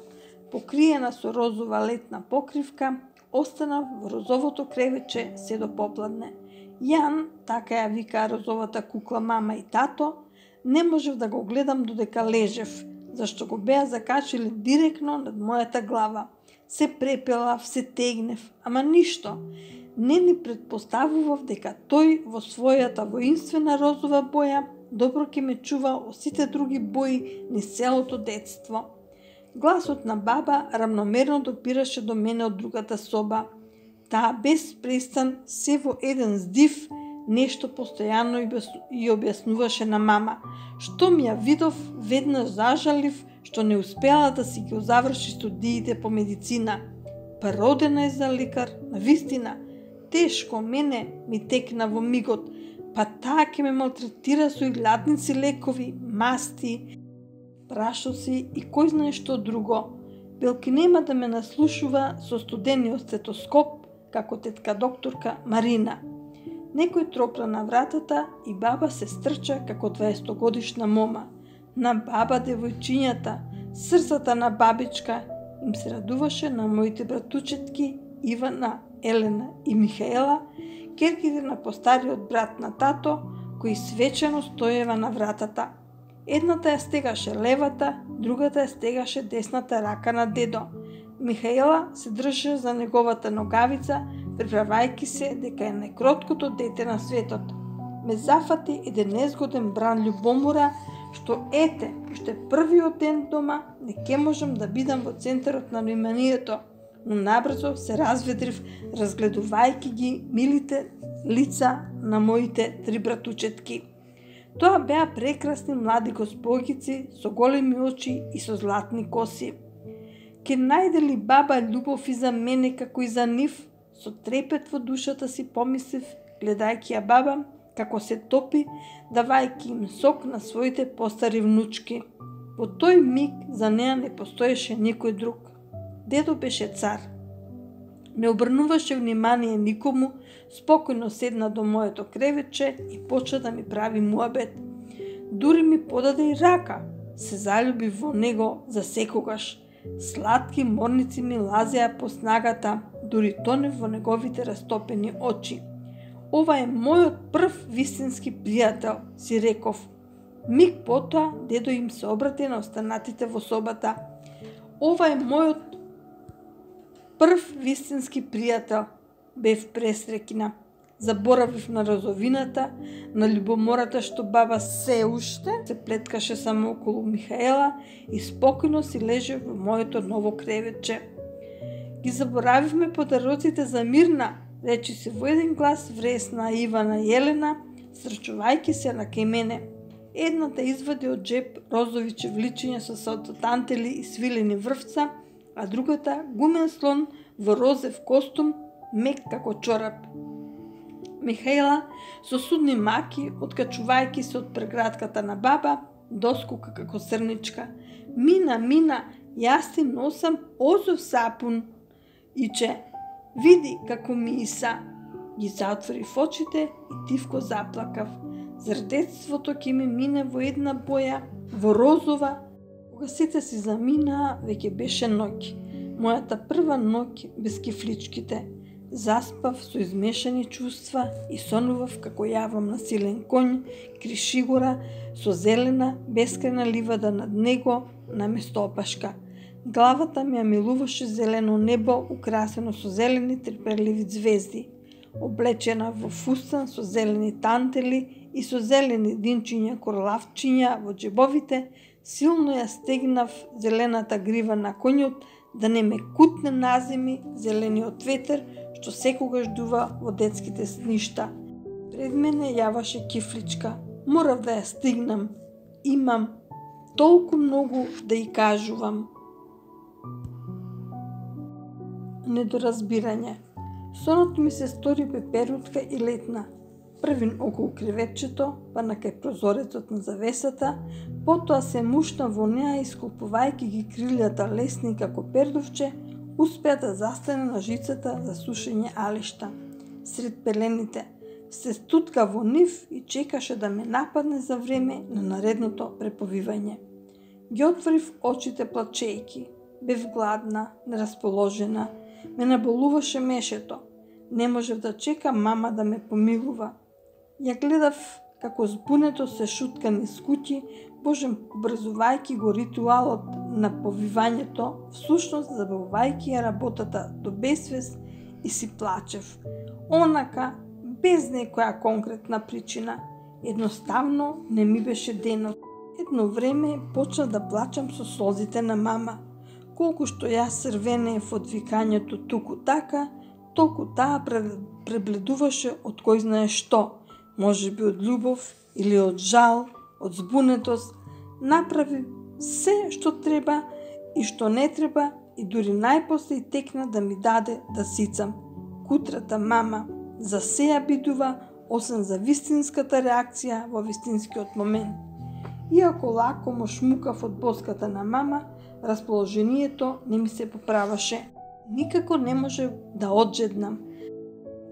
Покриена со розова летна покривка, останав во розовото кревече се до попладне. Јан, така ја вика розовата кукла мама и тато, не можев да го гледам додека лежев, зашто го беа закачили директно над мојата глава. Се препелав, се тегнев, ама ништо. Не ни предпоставував дека тој во својата воинствена розова боја добро ќе ме чува од сите други бои низ целото детство. Гласот на баба рамномерно допираше до мене од другата соба. Таа без престан се во еден здив нешто постојано и објаснуваше на мама. Што ми ја видов, веднаш зажалив што не успела да си ги заврши студиите по медицина. Па родена е за лекар, навистина. Тешко мене ми текна во мигот, па таа ќе ме малтретира со илјадници лекови, масти, прашоци и кој знае што друго. Белки нема да ме наслушува со студениот стетоскоп, како тетка докторка Марина. Некој тропна на вратата и баба се стрча како дваесетогодишна мома. На баба девојчињата, срцата на бабичка, им се радуваше на моите братучетки Ивана, Елена и Михаела, керките на постариот брат на тато, кои свечено стоева на вратата. Едната ја стегаше левата, другата ја стегаше десната рака на дедо. Михаела се држеше за неговата ногавица, приправајки се дека е најкроткото дете на светот. Ме зафати еден незгоден бран љубомора, што ете, уште првиот ден дома не ке можам да бидам во центарот на вниманието, но набрзо се разведрив, разгледувајќи ги милите лица на моите три братучетки. Тоа беа прекрасни млади госпогици со големи очи и со златни коси. Ке најде ли баба љубов и за мене како и за нив? Со трепет во душата си помислив, гледајќи ја баба, како се топи, давајќи им сок на своите постари внучки. Во тој миг за неа не постоеше никој друг. Дедо беше цар. Не обрнуваше внимание никому, спокојно седна до моето кревече и почна да ми прави муабет. Дури ми подаде и рака. Се заљуби во него за секогаш. Сладки морници ми лазеа по снагата, дури тонев во неговите растопени очи. Ова е мојот прв вистински пријател, си реков. Миг потоа дедо им се обрати на останатите во собата. Ова е мојот прв вистински пријател, бев пресрекина. Заборавив на розовината, на љубомората што баба се уште се плеткаше само околу Михаела и спокојно си леже во моето ново кревече. Ги заборавивме подароците за Мирна, речи се во еден глас вресна Ивана и Елена, срачувајќи се на кај мене. Едната извади од джеп розови чевличиња со салтотантели и свилени врвца, а другата гумен слон во розев костум, мек како чорап. Михаела, со судни маки, откачувајќи се од преградката на баба, доскока како срничка. Мина, мина, јас ти носам озов сапун. Иче, види како миса. Ги затворив очите и тивко заплакав. Зар детството ќе ми мине во една боја, во розова? Кога сите си заминаа, веќе беше ноќ. Мојата прва ноќ без кифличките. Заспав со измешани чувства и сонував како јавам на силен конј, кришигора, со зелена, бескрајна ливада над него, наместо опашка. Главата ми ја милуваше зелено небо, украсено со зелени трпеливи звезди. Облечена во фустан со зелени тантели и со зелени динчиња корлавчиња во џебовите, силно ја стегнав зелената грива на конјот да не ме кутне наземи зелениот ветер што секогаш дува во детските сништа. Пред мене јаваше кифличка. Морав да ја стигнам. Имам толку многу да ја кажувам. Недоразбирање. Сонот ми се стори пеперутка и летна. Првин околу креветчето, па на кај прозорецот на завесата, потоа се мушна во неа и сколпувајќи ги крилјата лесни како пердовче, успеа да застане на жицата за сушење алишта. Сред пелените се стутка во нив и чекаше да ме нападне за време на наредното преповивање. Ги отворив очите плачејки. Бев гладна, нерасположена. Ме наболуваше мешето. Не можев да чекам мама да ме помилува. Ја гледав како збунето се шутка низ куќи, божем образувајќи го ритуалот на повивањето, всушност забавувајќи ја работата до безсвест и си плачев. Онака, без некоја конкретна причина. Едноставно не ми беше денот. Едно време почна да плачам со солзите на мама. Колку што јас срвенеев од викањето туку така, толку таа пребледуваше од кој знае што, може би од љубов или од жал, од збунетост. Направи се што треба и што не треба и дури најпосле и текна да ми даде да сицам. Кутрата мама за сеја бидува, освен за вистинската реакција во вистинскиот момент. Иако лако му шмукав од боската на мама, расположението не ми се поправаше. Никако не може да оджеднам.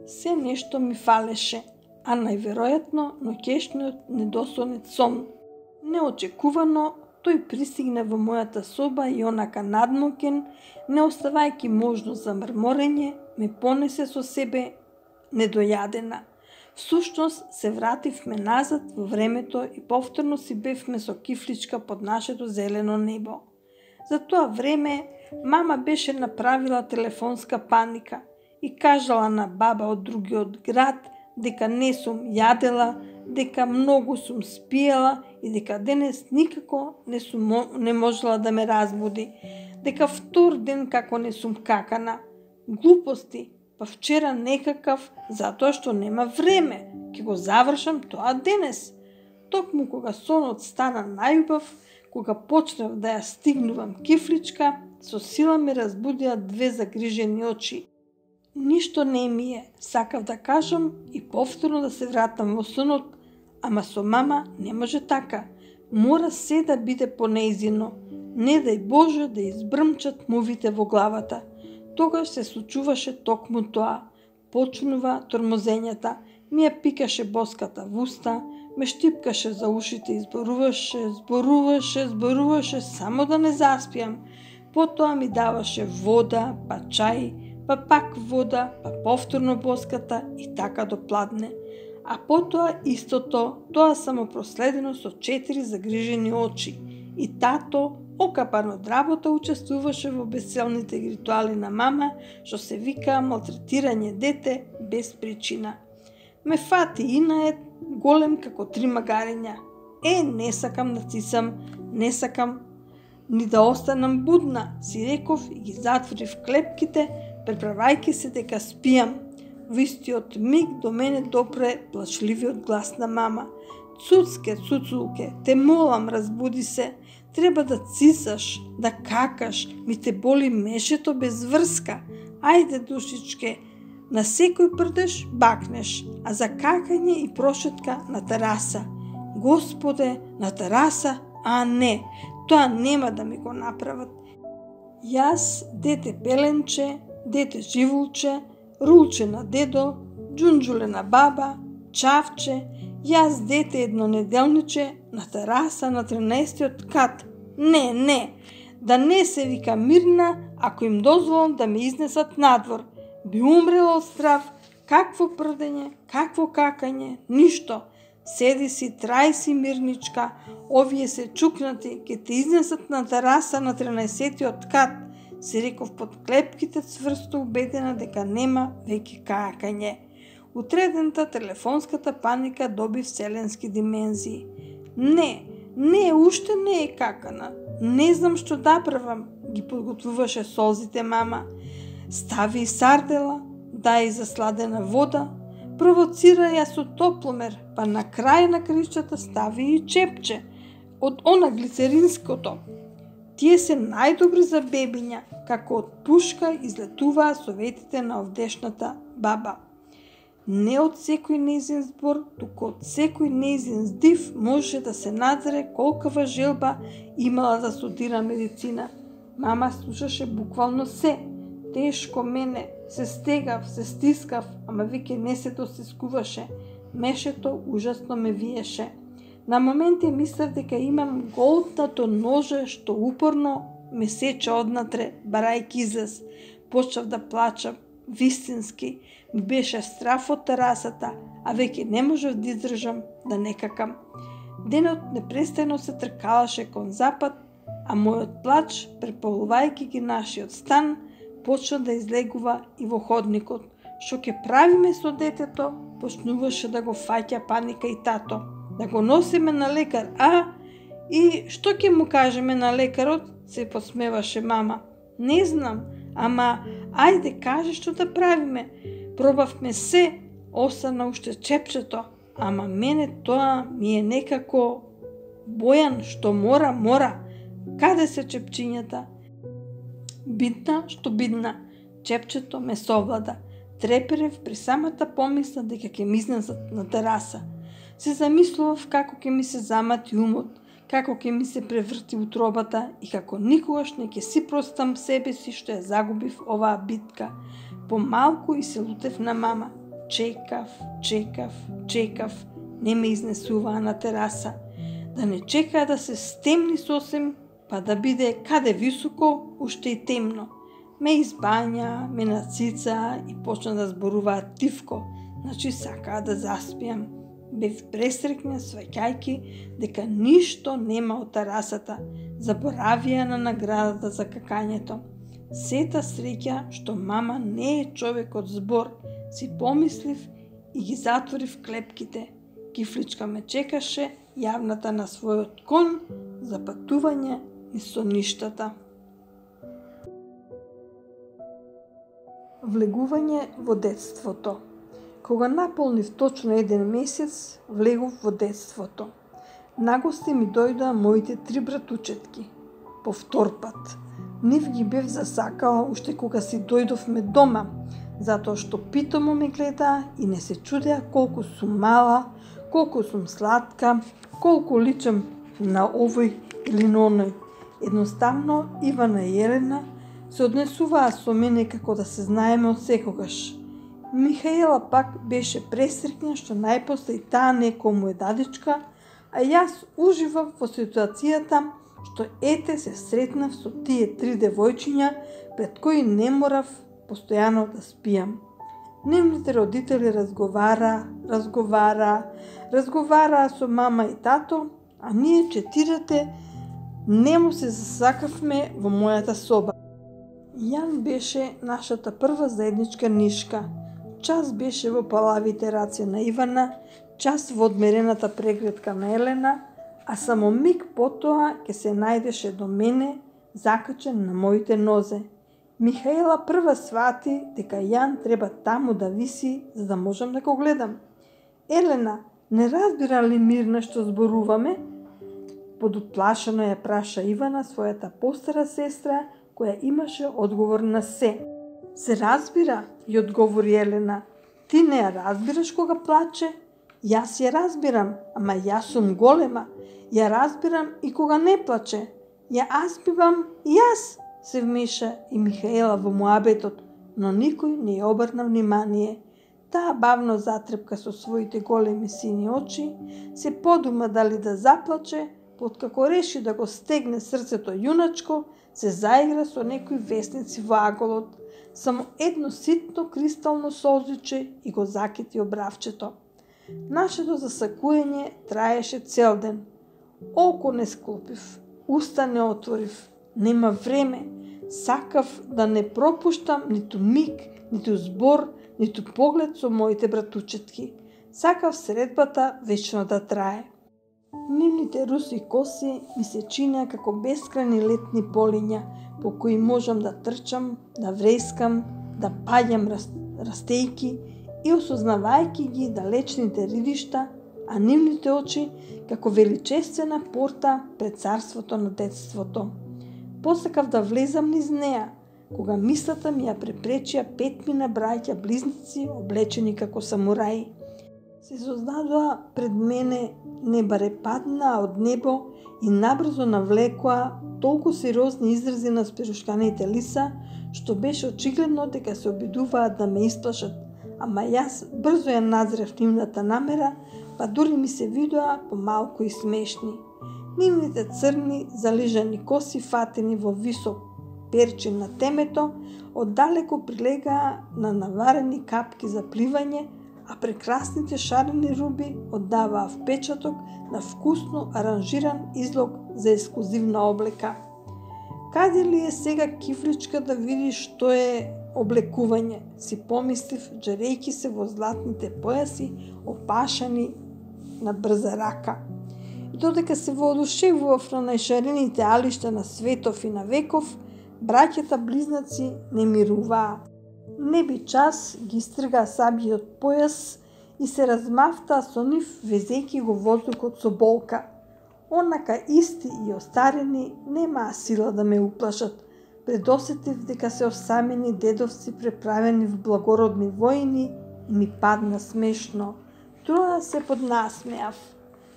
Се нешто ми фалеше, а најверојатно ноќешниот недосонет сон. Неочекувано, тој пристигна во мојата соба и онака надмокен, не оставајќи можност за мрморење, ме понесе со себе недојадена. Всушност се вративме назад во времето и повторно си бевме со кифличка под нашето зелено небо. За тоа време мама беше направила телефонска паника и кажала на баба од другиот град дека не сум јадела, дека многу сум спиела и дека денес никако не сум не можела да ме разбуди, дека втор ден како не сум какана. Глупости, па вчера некакав, затоа што нема време, ќе го завршам тоа денес. Токму кога сонот стана најубав, кога почнав да ја стигнувам кифличка, со сила ме разбудија две загрижени очи. Ништо не ми е, сакав да кажам и повторно да се вратам во сонот, ама со мама не може така. Мора се да биде понејзино. Не дај Боже да избрмчат мувите во главата. Тогаш се случуваше токму тоа. Почнува тормозењата, ми ја пикаше боската в уста, ме штипкаше за ушите и зборуваше, зборуваше, зборуваше, само да не заспијам. Потоа ми даваше вода, па чај, па пак вода, па повторно боската и така до пладне. А потоа истото, тоа само проследено со четири загрижени очи. И тато, окапан од работа, учествуваше во бесцелните ритуали на мама, што се вика малтретирање дете без причина. Ме фати инает, голем како три магариња. Е, не сакам да цисам, не сакам ни да останам будна, си реков и ги затворив клепките, преправајќи се дека спијам. Во истиот миг до мене допре плачливиот глас на мама. Цуцке, цуцулке, те молам, разбуди се. Треба да цисаш, да какаш, ми те боли мешето без врска. Ајде, душичке, на секој прдеш бакнеш, а за какање и прошетка на тераса. Господе, на тераса, А не, тоа нема да ми го направат. Јас, дете пеленче, дете живулче, рулче на дедо, џунџуле на баба, чавче, јас дете еднонеделниче на тераса на тринаесеттиот кат. Не, не, да не се вика Мирна, ако им дозволам да ме изнесат надвор. Би умрела од страв, какво прдење, какво какање, ништо. Седи си, трај си Мирничка, овие се чукнати, ке те изнесат на тераса на тринаесеттиот кат, се реков под клепките цврсто убедена дека нема веќе какање. Утредента телефонската паника доби вселенски димензии. Не, не, уште не е какана. Не знам што да правам, ги подготвуваше солзите мама. Стави и сардела, дај засладена вода, провоцира ја со топломер, па на крај на кришчата стави и чепче од она глицеринското. Тие се најдобри за бебиња, како од пушка излетуваа советите на овдешната баба. Не од секој нејзин збор, туку од секој нејзин здив можеше да се надзере колкава желба имала да студира медицина. Мама слушаше буквално се. Тешко мене, се стегав, се стискав, ама веќе не се достискуваше. Мешето ужасно ме виеше. На моменти мислев дека имам голтнато ноже што упорно ме сече однатре, барајќи излез. Почнав да плачам, вистински. Ми беше страф од терасата, а веќе не можев да издржам да не какам. Денот непрестајно се тркалаше кон запад, а мојот плач, преполувајќи ги нашиот стан, почна да излегува и во ходникот. Што ќе правиме со детето, почнуваше да го фаќа паника и тато. Да го носиме на лекар, а? И што ќе му кажеме на лекарот? Се посмеваше мама. Не знам, ама ајде кажи што да правиме. Пробавме се, остана уште чепчето, ама мене тоа ми е некако Бојан, што мора, мора. Каде се чепчињата? Битна, што бидна, чепчето ме совлада. Треперев при самата помисла дека ќе ми изнесат на тераса. Се замислував како ќе ми се замати умот, како ќе ми се преврти утробата и како никогаш не ќе си простам себе си што ја загубив оваа битка. Помалку и се лутев на мама. Чекав, чекав, чекав, не ме изнесуваа на тераса. Да не чекаа да се стемни сосем, па да биде каде високо, уште и темно. Ме избања, ме нацица и почна да зборуваат тивко, значи сакаа да заспијам. Бев пресрекна сваќајки дека ништо нема од терасата, заборавија на наградата за какањето. Сета среќа што мама не е човек од збор, си помислив и ги затворив клепките. Кифличка ме чекаше јавната на својот кон за патување низ соништата. Влегување во детството. Кога наполнив точно еден месец, влегов во детството. Нагости ми дојдоа моите три братучетки. По втор пат. Нив ги бев засакала уште кога си дојдовме дома, затоа што питомо ме гледаа и не се чудеа колку сум мала, колку сум сладка, колку личам на овој или на оној. Едноставно Ивана и Елена се однесуваа со мене како да се знаеме од секогаш. Михаела пак беше пресрекна што најпосле и таа некому е дадичка, а јас уживав во ситуацијата што ете се сретнав со тие три девојчиња пред кои не морав постојано да спијам. Нивните родители разговара, разговара, разговараа со мама и тато, а ние четирите нему се засакавме во мојата соба. Јан беше нашата прва заедничка нишка. Час беше во палавите раце на Ивана, час во одмерената прегредка на Елена, а само миг потоа ќе се најдеше до мене, закачен на моите нозе. Михаела прва свати дека Јан треба таму да виси, за да можам да го гледам. Елена, не разбира ли Мирна што зборуваме? Подуплашено ја праша Ивана својата постара сестра, која имаше одговор на се. Се разбира, ја одговори Елена. Ти не ја разбираш кога плаче? Јас ја разбирам, ама јас сум голема. Ја разбирам и кога не плаче. Ја азбивам и јас, се вмеша и Михаела во муабетот, но никој не ја обрна внимание. Таа бавно затрепка со своите големи сини очи, се подума дали да заплаче, откако реши да го стегне срцето јуначко, се заигра со некои весници во аголот. Само едно ситно кристално солзиче и го закити обравчето. Нашето засакуење траеше цел ден. Око не склопив, уста не отворив, нема време. Сакав да не пропуштам ниту миг, ниту збор, ниту поглед со моите братучетки. Сакав средбата вечно да трае. Нивните руси коси ми се чинеа како бескрајни летни полиња, по кои можам да трчам, да врескам, да паѓам растејки и осознавајќи ги далечните ривишта, а нивните очи како величествена порта пред царството на детството. Посакав да влезам низ неа, кога мислата ми ја препречија петмина браќа близници облечени како самураи. Се создадоа пред мене, не баре паднаа од небо и набрзо навлекоа толку сериозни изрази на спирушканите лица, што беше очигледно дека се обидуваат да ме исплашат, ама јас брзо ја назрев нивната намера, па дури ми се видоа помалку и смешни. Нивните црни, залижани коси фатени во висок перчин на темето, оддалеку прилегаа на наварени капки за пливање, а прекрасните шарени руби оддаваа впечаток на вкусно аранжиран излог за ексклузивна облека. Каде ли е сега кифличка да види што е облекување, си помислив, джарејки се во златните појаси, опашани на брза рака. И додека се воодушевував на најшарените алишта на светов и на веков, браќата близнаци не мируваа. Не би час ги стрга сабиот појас и се размавтаа со нив, везејќи го воздухот со болка. Онака исти и остарени немаа сила да ме уплашат. Предосетив дека се осамени дедовци преправени в благородни војни и ми падна смешно. Троа се поднасмеав.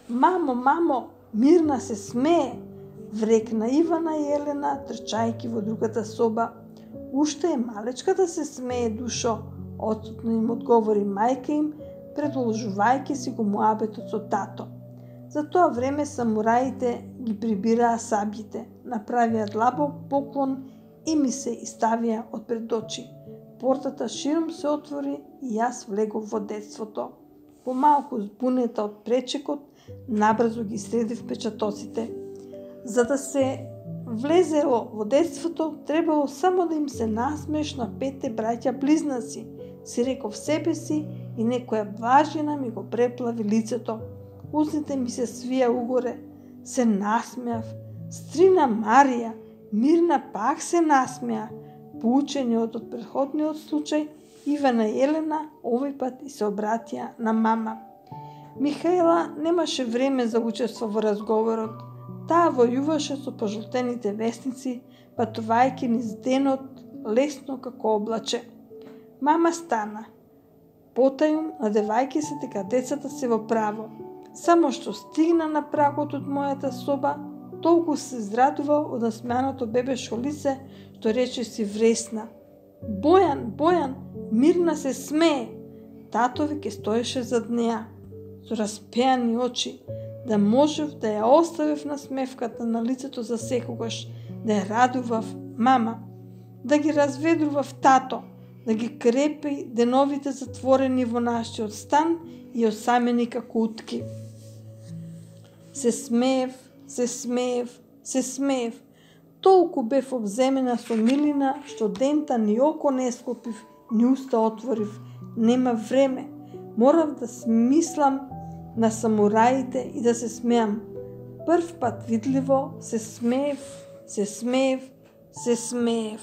Мамо, мамо, Мирна се смее, врекна Ивана и Елена, трчајки во другата соба. Уште е малечка да се смее, душо, отсутно им одговори мајка им, продолжувајќи си го муабетот со тато. За тоа време самураите ги прибираа сабјите, направија длабок поклон и ми се иставија од пред очи. Портата широм се отвори и јас влегов во детството. Помалку збунета од пречекот, набрзо ги средив печатоците. За да се влезело во детството, требало само да им се насмеш на петте браќа близнаци, си реков себе си и некоја влажина ми го преплави лицето. Устните ми се свија угоре, се насмеав. Стрина Марија, Мирна пак се насмеа. Поучени од претходниот случај, Ивана и Елена овој пат и се обратија на мама. Михаела немаше време за учество во разговорот. Таа војуваше со пожолтените весници, патувајќи низ денот лесно како облаче. Мама стана. Потајум, надевајќи се дека децата се во право. Само што стигна на прагот од мојата соба, толку се израдува од насмеаното бебешко лице, што рече си вресна. Бојан, Бојан, Мирна се смее. Тато веќе стоеше зад неа, со распеани очи, да можев да ја оставив насмевката на лицето за секогаш, да ја радував мама, да ги разведрував тато, да ги крепи деновите затворени во нашиот стан и осамени како утки. Се смеев, се смеев, се смеев. Толку бев обземена со милина, што дента ни око не склопив, ни уста отворив. Нема време. Морав да смислам на самураите и да се смеам. Прв пат видливо се смеев, се смеев, се смеев.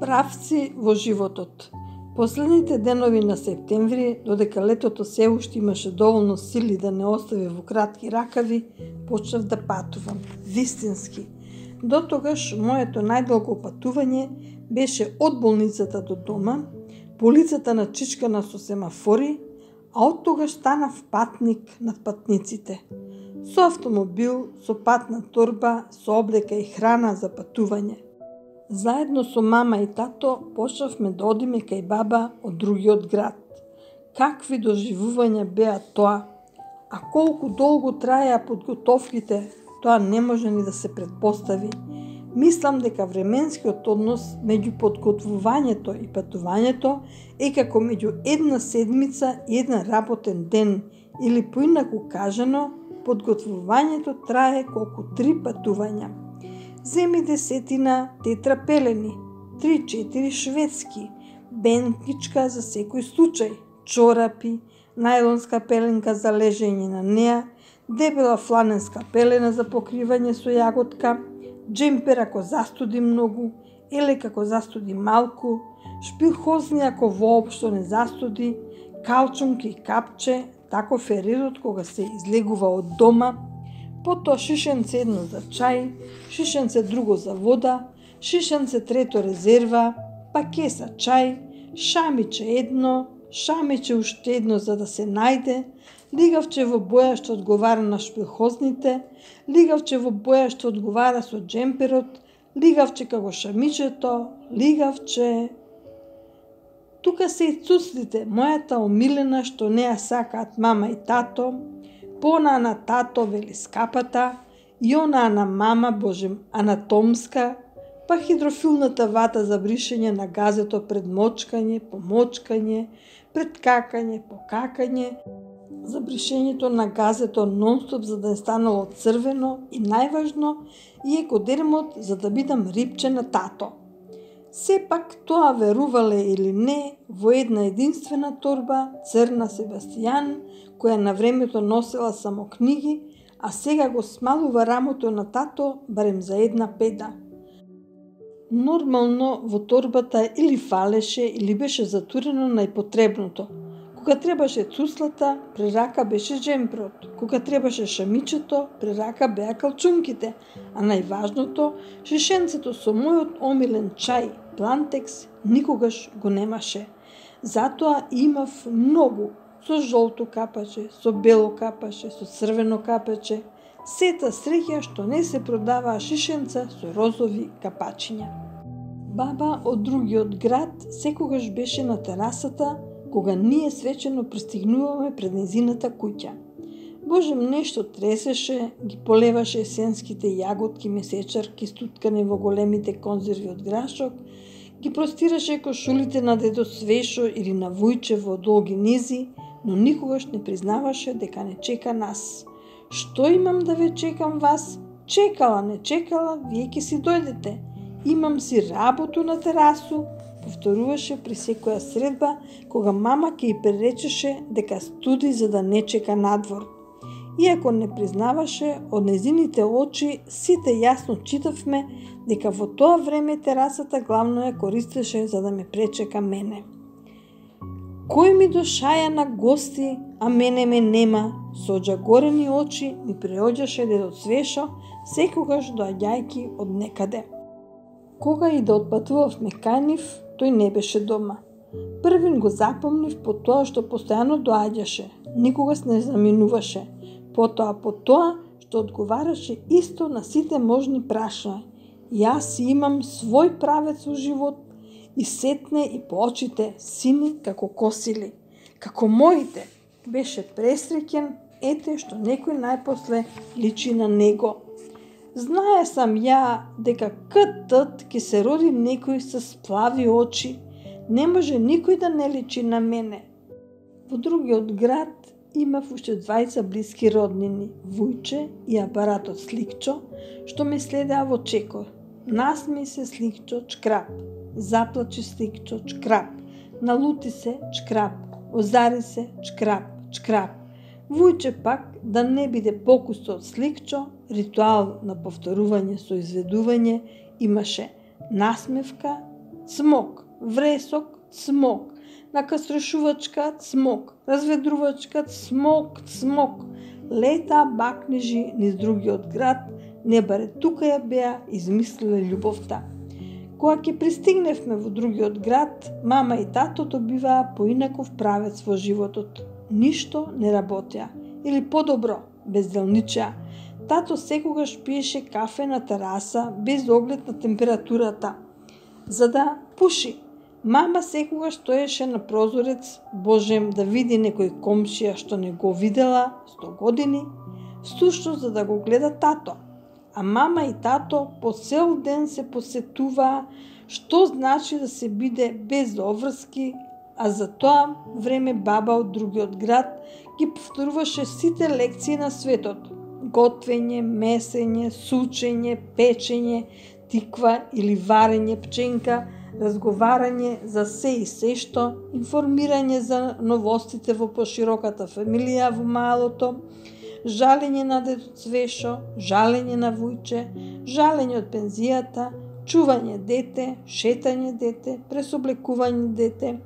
Правци во животот. Последните денови на септември, додека летото се уште имаше доволно сили да не остави во кратки ракави, почнав да патувам, вистински. До тогаш моето најдолго патување беше од болницата до дома, по лицата на чичкана со семафори, а од тогаш станав патник над патниците. Со автомобил, со патна торба, со облека и храна за патување. Заедно со мама и тато почнавме да одиме кај баба од другиот град. Какви доживувања беа тоа, а колку долго траеа подготовките, тоа не може ни да се предпостави. Мислам дека временскиот однос меѓу подготвувањето и патувањето е како меѓу една седмица и една работен ден, или поинаку кажано, подготвувањето трае колку три патувања. Земи десетина тетрапелени, три-четири шведски, бентничка за секој случај, чорапи, најлонска пеленка за лежење на неа, дебела фланенска пелена за покривање со јаготка, джемпер ако застуди многу, елек ако застуди малку, шпилхозни ако воопшто не застуди, калчунки и капче, таков е редот кога се излегува од дома, потоа шишенце едно за чај, шишенце друго за вода, шишенце трето резерва, па кеса чај, шамиче едно, шамиче уште едно за да се најде, лигавче во боја што одговара на шпилхозните, лигавче во боја што одговара со джемперот, лигавче како шамичето, лигавче... Тука се и цуцлите, мојата омилена што не ја сакаат мама и тато, понаа на тато вели скапата, и онаа на мама, боже, анатомска, па хидрофилната вата за бришење на газето пред мочкање, помочкање, пред какање, покакање, за бришењето на газето нонстоп за да не станало црвено и најважно и екодермот за да бидам рипче на тато. Сепак тоа верувале или не во една единствена торба црна Себастијан, која на времето носела само книги, а сега го смалува рамото на тато барем за една педа. Нормално во торбата или фалеше или беше затурено најпотребното. Кога требаше цуслата, при рака беше джемперот. Кога требаше шамичето, при рака беа калчунките. А најважното, шишенцето со мојот омилен чај, Плантекс, никогаш го немаше. Затоа имав многу, со жолто капаче, со бело капаче, со црвено капаче. Сета среќа што не се продаваа шишенца со розови капачиња. Баба од другиот град секогаш беше на терасата, кога ние свечено пристигнуваме пред незината куќа. Божем нешто тресеше, ги полеваше есенските јаготки, месечарки, стуткани во големите конзерви од грашок, ги простираше кошулите на дедо Свешо или на Вујче во долги низи, но никогаш не признаваше дека не чека нас. Што имам да ве чекам вас? Чекала, не чекала, вие ќе си дојдете. Имам си работу на терасу, повторуваше при секоја средба, кога мама ќе ја преречеше дека студи за да не чека надвор. Иако не признаваше, од незините очи сите јасно читавме дека во тоа време терасата главно ја користеше за да ме пречека мене. Кој ми дошаја на гости, а мене ме нема, со оџагорени очи ми преоѓаше дедо Свешо, секогаш доаѓајки од некаде. Кога и да отпатувавме кај нив, тој не беше дома. Првин го запомнив по тоа што постојано доаѓаше, никогаш не заминуваше, потоа по тоа што одговараше исто на сите можни прашања. Јас си имам свој правец во живот и сетне и по очите сини како косили. Како моите, беше пресреќен, ете што некој најпосле личи на него. Знае сам ја дека кт ќе се роди некој со сплави очи, не може никој да не личи на мене. Во другиот град имав уште двајца блиски роднини, Вујче и апаратот Сликчо, што ме следеа во чекор. Насмеј се Сликчо, чкрап, заплачи Сликчо, чкрап, налути се, чкрап, озари се, чкрап, чкрап. Вујче пак, да не биде покусто од Сликчо, ритуал на повторување со изведување, имаше насмевка, цмок, вресок, цмок, накаструшувачка, цмок, разведрувачка, цмок, цмок. Лета бакнежи низ другиот град, не баре тука ја беа измислиле љубовта. Кога ќе пристигневме во другиот град, мама и тато добиваа поинаков правец во животот. Ништо не работеа. Или подобро, безделничеа. Тато секогаш пиеше кафе на тераса без оглед на температурата, за да пуши. Мама секогаш стоеше на прозорец, божем да види некој комшија што не го видела сто години, сушто за да го гледа тато. А мама и тато по цел ден се посетуваа што значи да се биде без обврски, а за тоа време баба од другиот град ги повторуваше сите лекции на светот. Готвење, месење, сучење, печење, тиква или варење пченка, разговарање за се и се што, информирање за новостите во пошироката фамилија во малото, жалење на дедо Цвешо, жалење на Вујче, жалење од пензијата, чување дете, шетање дете, пресоблекување дете,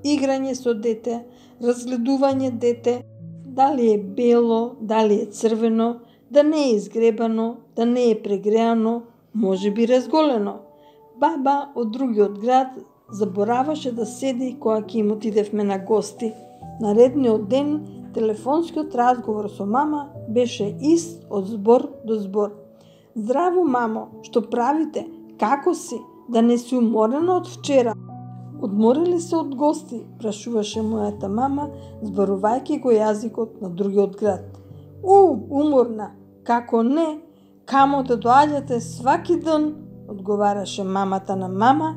играње со дете, разгледување дете, дали е бело, дали е црвено, да не е изгребано, да не е прегреано, може би разголено. Баба од другиот град забораваше да седи кога ќе им отидевме на гости. Наредниот ден телефонскиот разговор со мама беше ист од збор до збор. Здраво, мамо, што правите? Како си? Да не си уморена од вчера? Одморили се од гости, прашуваше мојата мама, зборувајќи го јазикот на другиот град. У, уморна, како не, камо да доаѓате сваки ден, одговараше мамата на мама,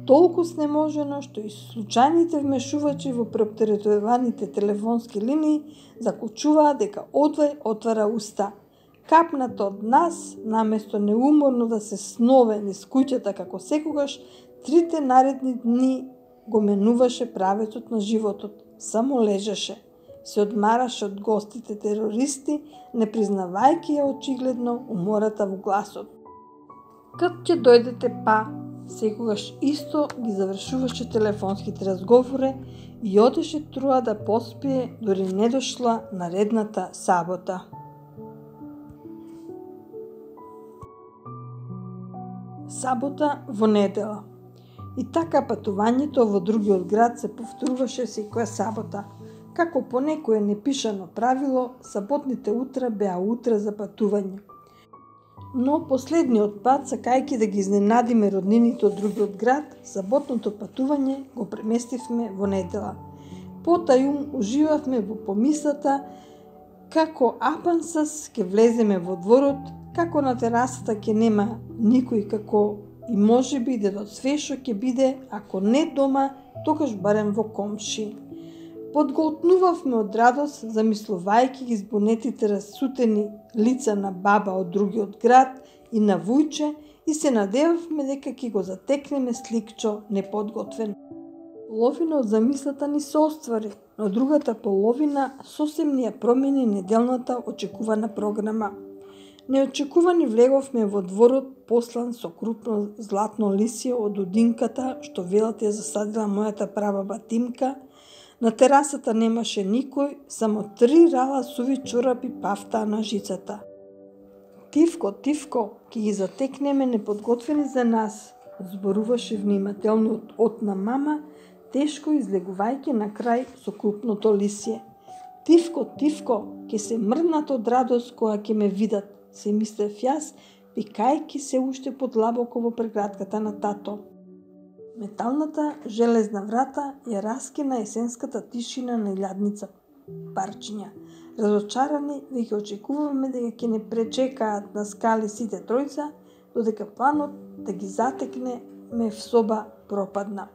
толку снеможено што и случајните вмешувачи во преоптеретуваните телефонски линии закучуваа дека одвај отвара уста. Капната од нас, наместо неуморно да се снове низ куќата како секогаш, трите наредни дни го менуваше правецот на животот. Само лежеше. Се одмараше од гостите терористи, не признавајќи ја очигледно умората во гласот. Кад ќе дојдете па, секогаш исто ги завршуваше телефонските разговори и одеше труа да поспие, дори не дошла наредната сабота. Сабота во недела. И така патувањето во другиот град се повторуваше секоја сабота. Како по некое непишано правило, саботните утра беа утра за патување. Но последниот пат, сакајќи да ги изненадиме роднините од другиот град, саботното патување го преместивме во недела. Потајум уживавме во помислата како апансас ќе влеземе во дворот, како на терасата ќе нема никој, како и можеби дедо Цвешо ќе биде, ако не дома, тогаш барем во комши. Подголтнувавме од радост, замислувајќи ги збунетите расутени лица на баба од другиот град и на Вујче и се надевавме дека ќе го затекнеме сликчо неподготвен. Половина од замислата ни се оствари, но другата половина сосем ни ја промени неделната очекувана програма. Неочекувани влеговме во дворот послан со крупно златно лисје од удинката што велат ја засадила мојата прабаба Тимка. На терасата немаше никој, само три рала суви чорапи пафтаа на жицата. Тивко, Тивко, ќе ги затекнеме неподготвени за нас, зборуваше внимателниот от на мама, тешко излегувајќи на крај со крупното лисје. Тивко, Тивко, ќе се мрднат од радост кога ќе ме видат, се мислев јас, пикајќи се уште подлабоко во прегратката на тато. Металната железна врата ја раскина есенската тишина на илјадница парчиња. Разочарани, веќе очекуваме дека ќе не пречекаат на скали сите тројца, додека планот да ги затекнеме в соба пропадна.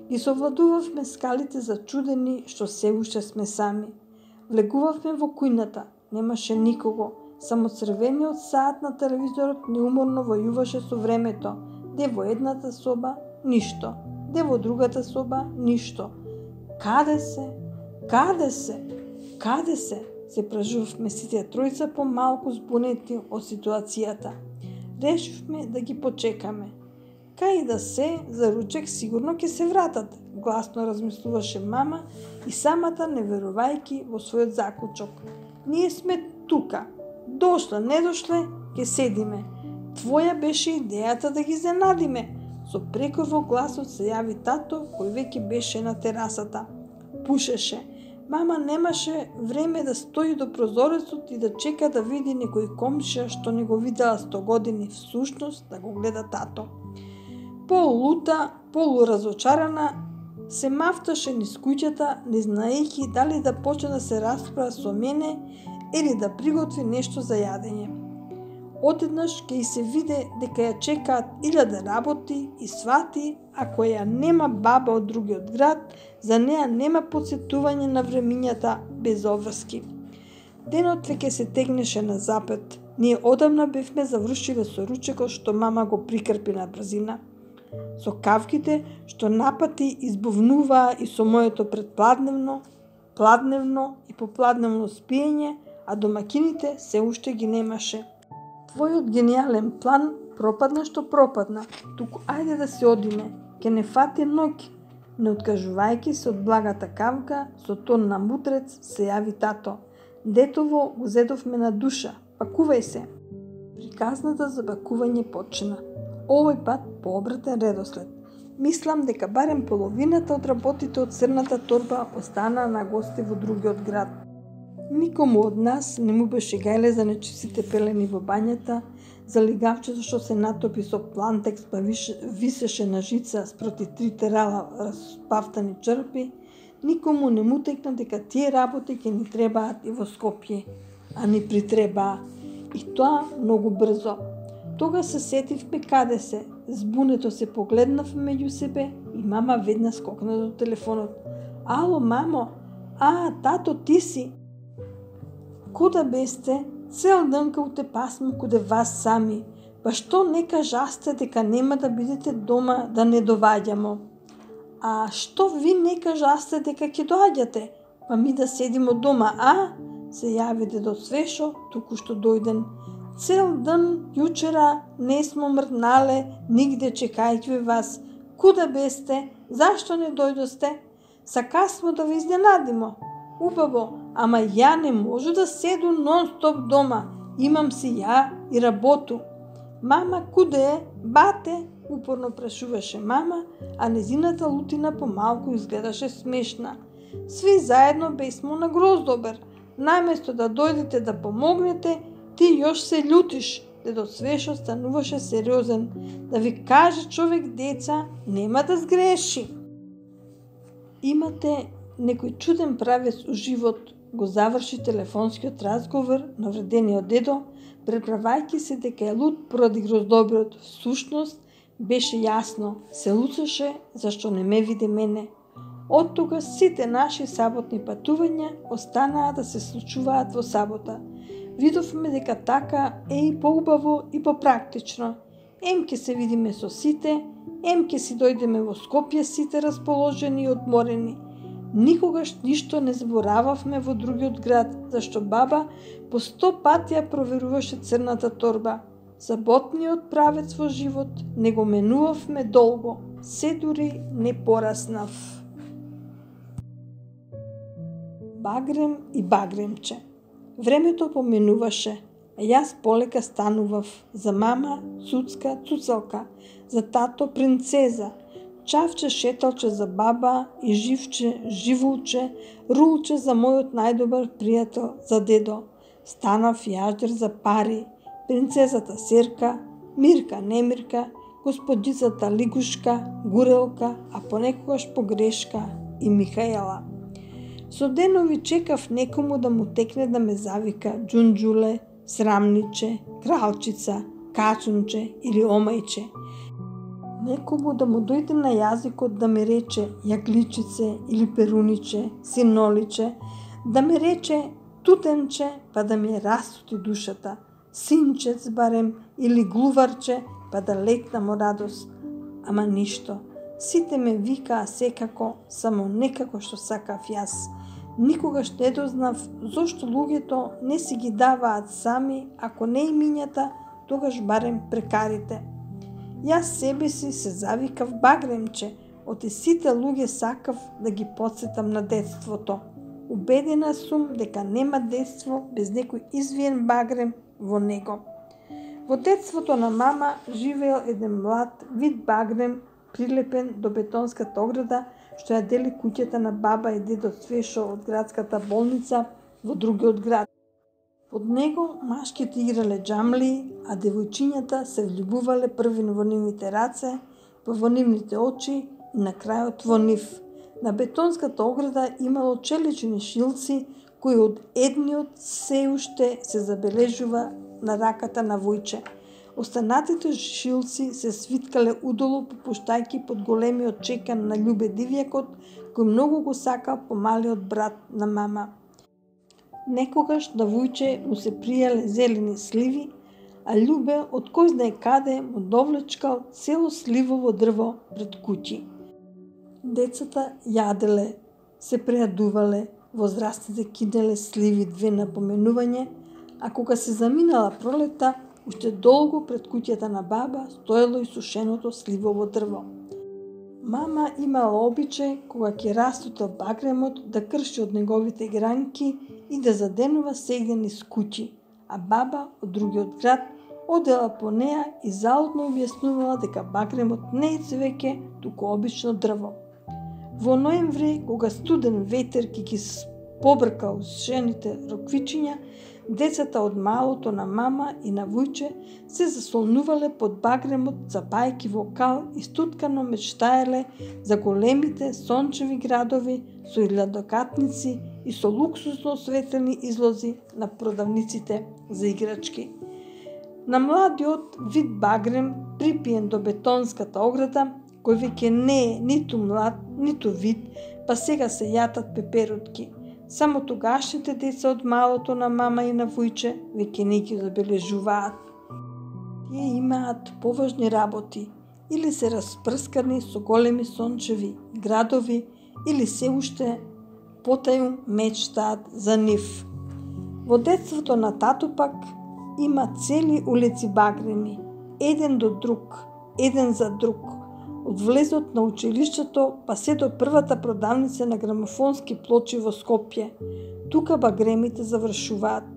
Ги совладувавме скалите зачудени што се уште сме сами. Влегувавме во кујната, немаше никого, само црвениот саат на телевизорот неуморно војуваше со времето. Де во едната соба, ништо. Де во другата соба, ништо. Каде се? Каде се? Каде се? Се пражувавме сите тројца помалку збунети од ситуацијата. Решивме да ги почекаме. Кај да се, за ручек сигурно ќе се вратат, гласно размислуваше мама и самата не верувајќи во својот заклучок. Ние сме тука. Дошле, не дошле, ќе седиме. Твоја беше идејата да ги изненадиме. Со прекор во гласот се јави тато, кој веќе беше на терасата. Пушеше. Мама немаше време да стои до прозорецот и да чека да види некој комшија што не го видела сто години, всушност да го гледа тато. Полулута, полуразочарана, се мафташе низ куќата, не знаејќи дали да почне да се расправа со мене или да приготви нешто за јадење. Одеднаш ќе и се виде дека ја чекаат илјаде работи и свати, ако ја нема баба од другиот град, за неа нема подсетување на времињата без обврски. Денот веќе се тегнеше на запет. Ние одамна бевме завршиле со ручекот што мама го прикрпи на брзина. Со кавките што напати избувнуваа и со моето предпладневно, пладневно и попладневно спиење, а домакините се уште ги немаше. Твојот гениален план пропадна што пропадна, туку ајде да се одиме, ке не фати ноќ. Не откажувајќи се од благата кавка, со тон на мудрец се јави тато. Детово го зедовме на душа, пакувај се. Приказната за пакување почна. Овој пат по обратен редослед. Мислам дека барем половината од работите од црната торба останаа на гости во другиот град. Никому од нас не му беше гајле за нечистите пелени во бањата, за лигавчето што се натопи со плантекс па висеше на жица спроти три терала распавтани чрпи, никому не му текна дека тие работи ќе ни требаат и во Скопје, а ни притребаа. И тоа многу брзо. Тога се сетивме каде се, збунето се погледнавме меѓу себе и мама ведна скокна до телефонот. Ало, мамо, а, тато, ти си? Куда бесте? Цел ден кај те пасмо куде вас сами. Па што не кажасте дека нема да бидете дома да не доваѓамо? А што ви не кажасте дека ќе доаѓате? Па ми да седимо дома, а? Се јави дедо Свешо, туку што дојден. Цел ден јучера не смо мрднале, нигде чекајќи вас. Куда бесте? Зашто не дојдосте? Сакасмо да ви изненадимо. Убаво, ама ја не можу да седу нон-стоп дома. Имам си ја и работу. Мама, куде е? Бате? Упорно прашуваше мама, а незината лутина помалку изгледаше смешна. Сви заедно бесмо на Гроздобер. Наместо да дојдете да помогнете, ти још се љутиш. Дедо Свешо стануваше сериозен. Да ви каже човек, деца, нема да сгреши. Имате некој чуден правец у живот, го заврши телефонскиот разговор на вредениот дедо, преправајќи се дека е луд поради Гроздоберот. Всушност, беше јасно, се луцаше зашто не ме виде мене. Од тога сите наши саботни патувања останаа да се случуваат во сабота. Видовме дека така е и поубаво и попрактично. Ем ке се видиме со сите, ем ке си дојдеме во Скопје сите расположени и одморени. Никогаш ништо не зборававме во другиот град, зашто баба по сто пати ја проверуваше црната торба. Саботниот правец во живот не го менувавме долго, се дури не пораснав. Багрем и багремче. Времето поменуваше, а јас полека станував. За мама цуцка, цуцалка, за тато принцеза, чавче шеталче за баба и живче, живулче, рулче за мојот најдобар пријател, за дедо. Станав јаждер за пари, принцезата Серка, Мирка Немирка, господицата Лигушка, Гурелка, а понекогаш погрешка и Михаела. Со денови чекав некому да му текне да ме завика Джунджуле, Срамниче, Кралчица, Качунче или Омајче. Некому да му дојде на јазикот да ме рече Јагличице или Перуниче, Синоличе, да ме рече Тутенче, па да ми расути душата, Синчец барем или Глуварче, па да летнам од радост. Ама ништо. Сите ме викаа секако, само некако што сакав јас. Никогаш не дознав зошто луѓето не си ги даваат сами, ако не имињата, тогаш барем прекарите. Јас себе си се завикав Багремче, од сите луѓе сакав да ги потсетам на детството. Убедена сум дека нема детство без некој извиен багрем во него. Во детството на мама живеел еден млад вид багрем прилепен до бетонската ограда што ја дели куќата на баба и дедо Свешо од градската болница во другиот град. Под него машките играле џамли, а девојчињата се влюбувале први во нивните раце, во нивните очи и на крајот во нив. На бетонската ограда имало челични шилци кои од едниот се уште се забележува на раката на Војче. Останатите шилци се свиткале удолу, попуштајќи под големиот чекан на Љубе Дивјакот, кој многу го сакал помалиот брат на мама. Некогаш на Војче му се пријале зелени сливи, а Љубе од кој знае каде му довлечкал цело сливово дрво пред куќи. Децата јаделе, се прејадувале, возрастните кинеле сливи две на поминување, а кога се заминала пролета, уште долго пред куќата на баба стоело и сушеното сливово дрво. Мама имала обичај кога ќе растутел багремот да крши од неговите гранки и да заденува сегден из куќи, а баба од другиот град одела по неа и заудно објаснувала дека багремот не е цвеќе, туку обично дрво. Во ноември, кога студен ветер ќе ги побркал сушените роквичиња, децата од малото на мама и на Војче се засолнувале под багремот, цапајки вокал и стуткано мечтаеле за големите сончеви градови со илјадокатници и со луксусно осветлени излози на продавниците за играчки. На младиот вид багрем, припиен до бетонската ограда, кој веќе не е ниту млад, ниту вид, па сега се јатат пеперутки. Само тогашните деца од малото на мама и на Војче веќе не ги забележуваат. Тие имаат поважни работи, или се распрскани со големи сончеви градови, или се уште потају мечтаат за нив. Во детството на тато пак има цели улици багреми, еден до друг, еден за друг. Од влезот на училиштето па се до првата продавница на грамофонски плочи во Скопје. Тука багремите завршуваат.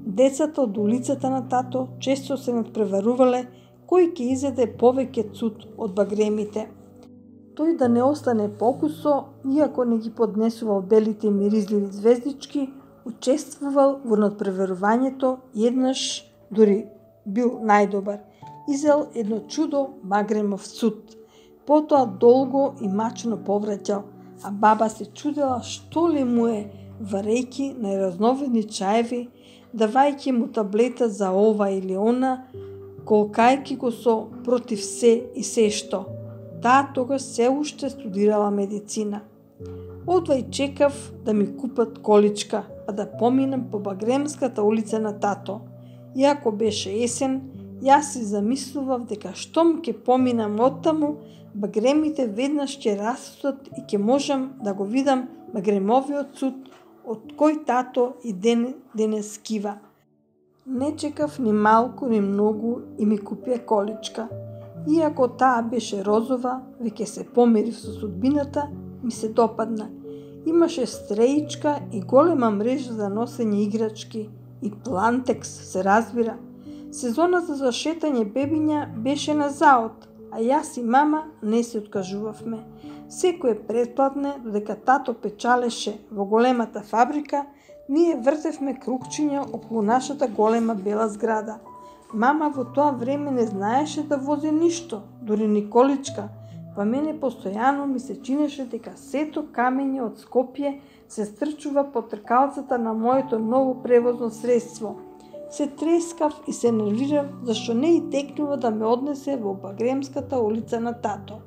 Децата од улицата на тато често се надпреварувале кој ќе изеде повеќе цуд од багремите. Тој да не остане покусо, иако не ги поднесувал белите миризливи звездички, учествувал во надпреварувањето и еднаш дури бил најдобар. Изел едно чудо багремов цуд. Потоа долго и мачно повраќал, а баба се чудела што ли му е, варејќи најразновидни чаеви, давајќи му таблета за ова или она, колкајќи го со против се и се што. Таа тогаш се уште студирала медицина. Одва и чекав да ми купат количка, па да поминам по Багремската улица на тато. Иако беше есен, јас си замислував дека штом ќе поминам оттаму, багремите веднаш ќе растат и ќе можам да го видам багремовиот цуд од кој тато и ден денес скива. Не чекав ни малку ни многу и ми купија количка. Иако таа беше розова, веќе се помирив со судбината, ми се допадна. Имаше стреичка и голема мрежа за носење играчки и плантекс, се разбира. Сезоната за шетање бебиња беше на заод, а јас и мама не се откажувавме. Секое претпладне, додека тато печалеше во големата фабрика, ние вртевме кругчиња околу нашата голема бела зграда. Мама во тоа време не знаеше да вози ништо, дури ни количка, па мене постојано ми се чинеше дека сето камење од Скопје се стрчува по тркалцата на моето ново превозно средство. Се трескав и се нервирав зашто не и текнува да ме однесе во Багремската улица на тато.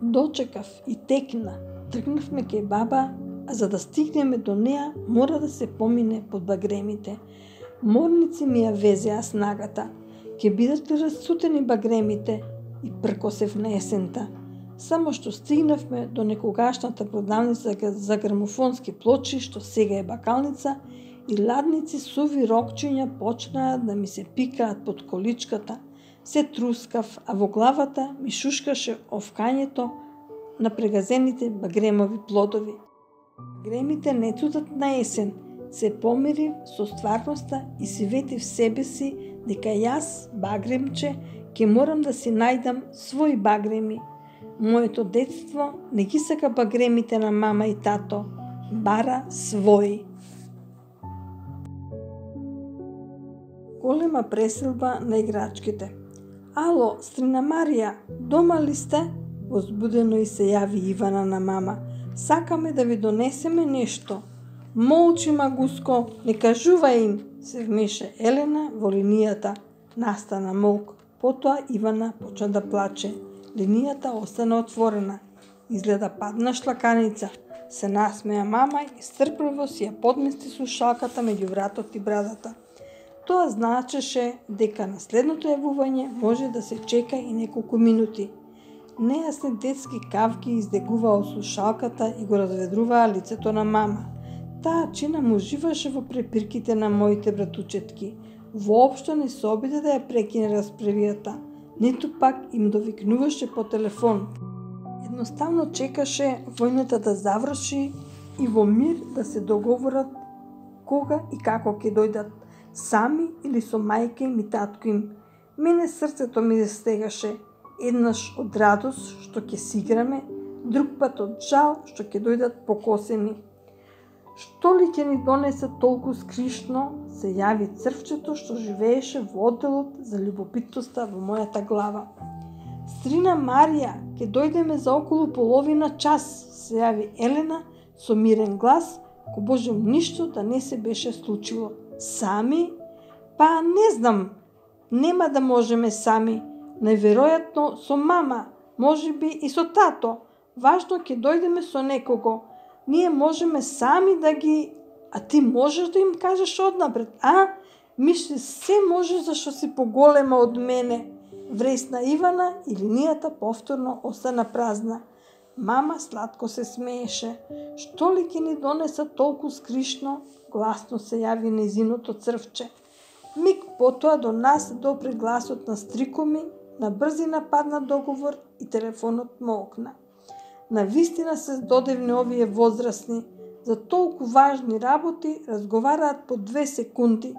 Дочекав и текна, тргнавме кај баба, а за да стигнеме до неа мора да се помине под багремите. Морници ми ја везеа снагата. Ке бидат ли расцутени багремите? И пркосев на есента. Само што стигнавме до некогашната продавница за грамофонски плочи, што сега е бакалница, и ладници суви рокчиња почнаа да ми се пикаат под количката. Се трускав, а во главата ми шушкаше овкањето на прегазените багремови плодови. Багремите не цутат на есен, се помирив со стварноста и си ветив себе си дека јас, багремче, ќе морам да си најдам свој багреми. Моето детство не ги сака багремите на мама и тато, бара свој. Голема преселба на играчките. Ало, стрина Марија, дома ли сте? Возбудено и се јави Ивана на мама. Сакаме да ви донесеме нешто. Молчи, Магуско, не кажувај им, се вмеше Елена во линијата. Настана молк. Потоа Ивана почна да плаче. Линијата остана отворена. Изгледа падна шлаканица. Се насмеа мама и стрпливо си ја подмести слушалката меѓу вратот и брадата. Тоа значеше дека на следното јавување може да се чека и неколку минути. Нејасни детски кавки издегуваа од слушалката и го разведруваа лицето на мама. Таа чина му живаше во препирките на моите братучетки. Воопшто не се обиде да ја прекине расправијата, ниту пак им довикнуваше по телефон. Едноставно чекаше војната да заврши и во мир да се договорат кога и како ќе дојдат, сами или со мајка им и татко им. Мене срцето ми се стегаше, еднаш од радост што ќе си играме, друг пат од жал што ќе дојдат покосени. Што ли ќе ни донесе толку скришно, се јави црвчето што живееше во одделот за љубопитноста во мојата глава. Стрина Марија, ќе дојдеме за околу половина час, се јави Елена со мирен глас, ко божем ништо да не се беше случило. Сами? Па не знам, нема да можеме сами. Најверојатно со мама, можеби и со тато. Важно ќе дојдеме со некого. Ние можеме сами да ги... А ти можеш да им кажеш однапред, а? Мисли се може зашто си поголема од мене. Вресна Ивана и линијата повторно остана празна. Мама сладко се смееше. Што ли ќе ни донеса толку скришно? Гласно се јави незиното црвче. Миг потоа до нас допре гласот на стрико ми, на брзина падна договор и телефонот молкна. Навистина се здодевни овие возрастни. За толку важни работи разговараат по две секунди.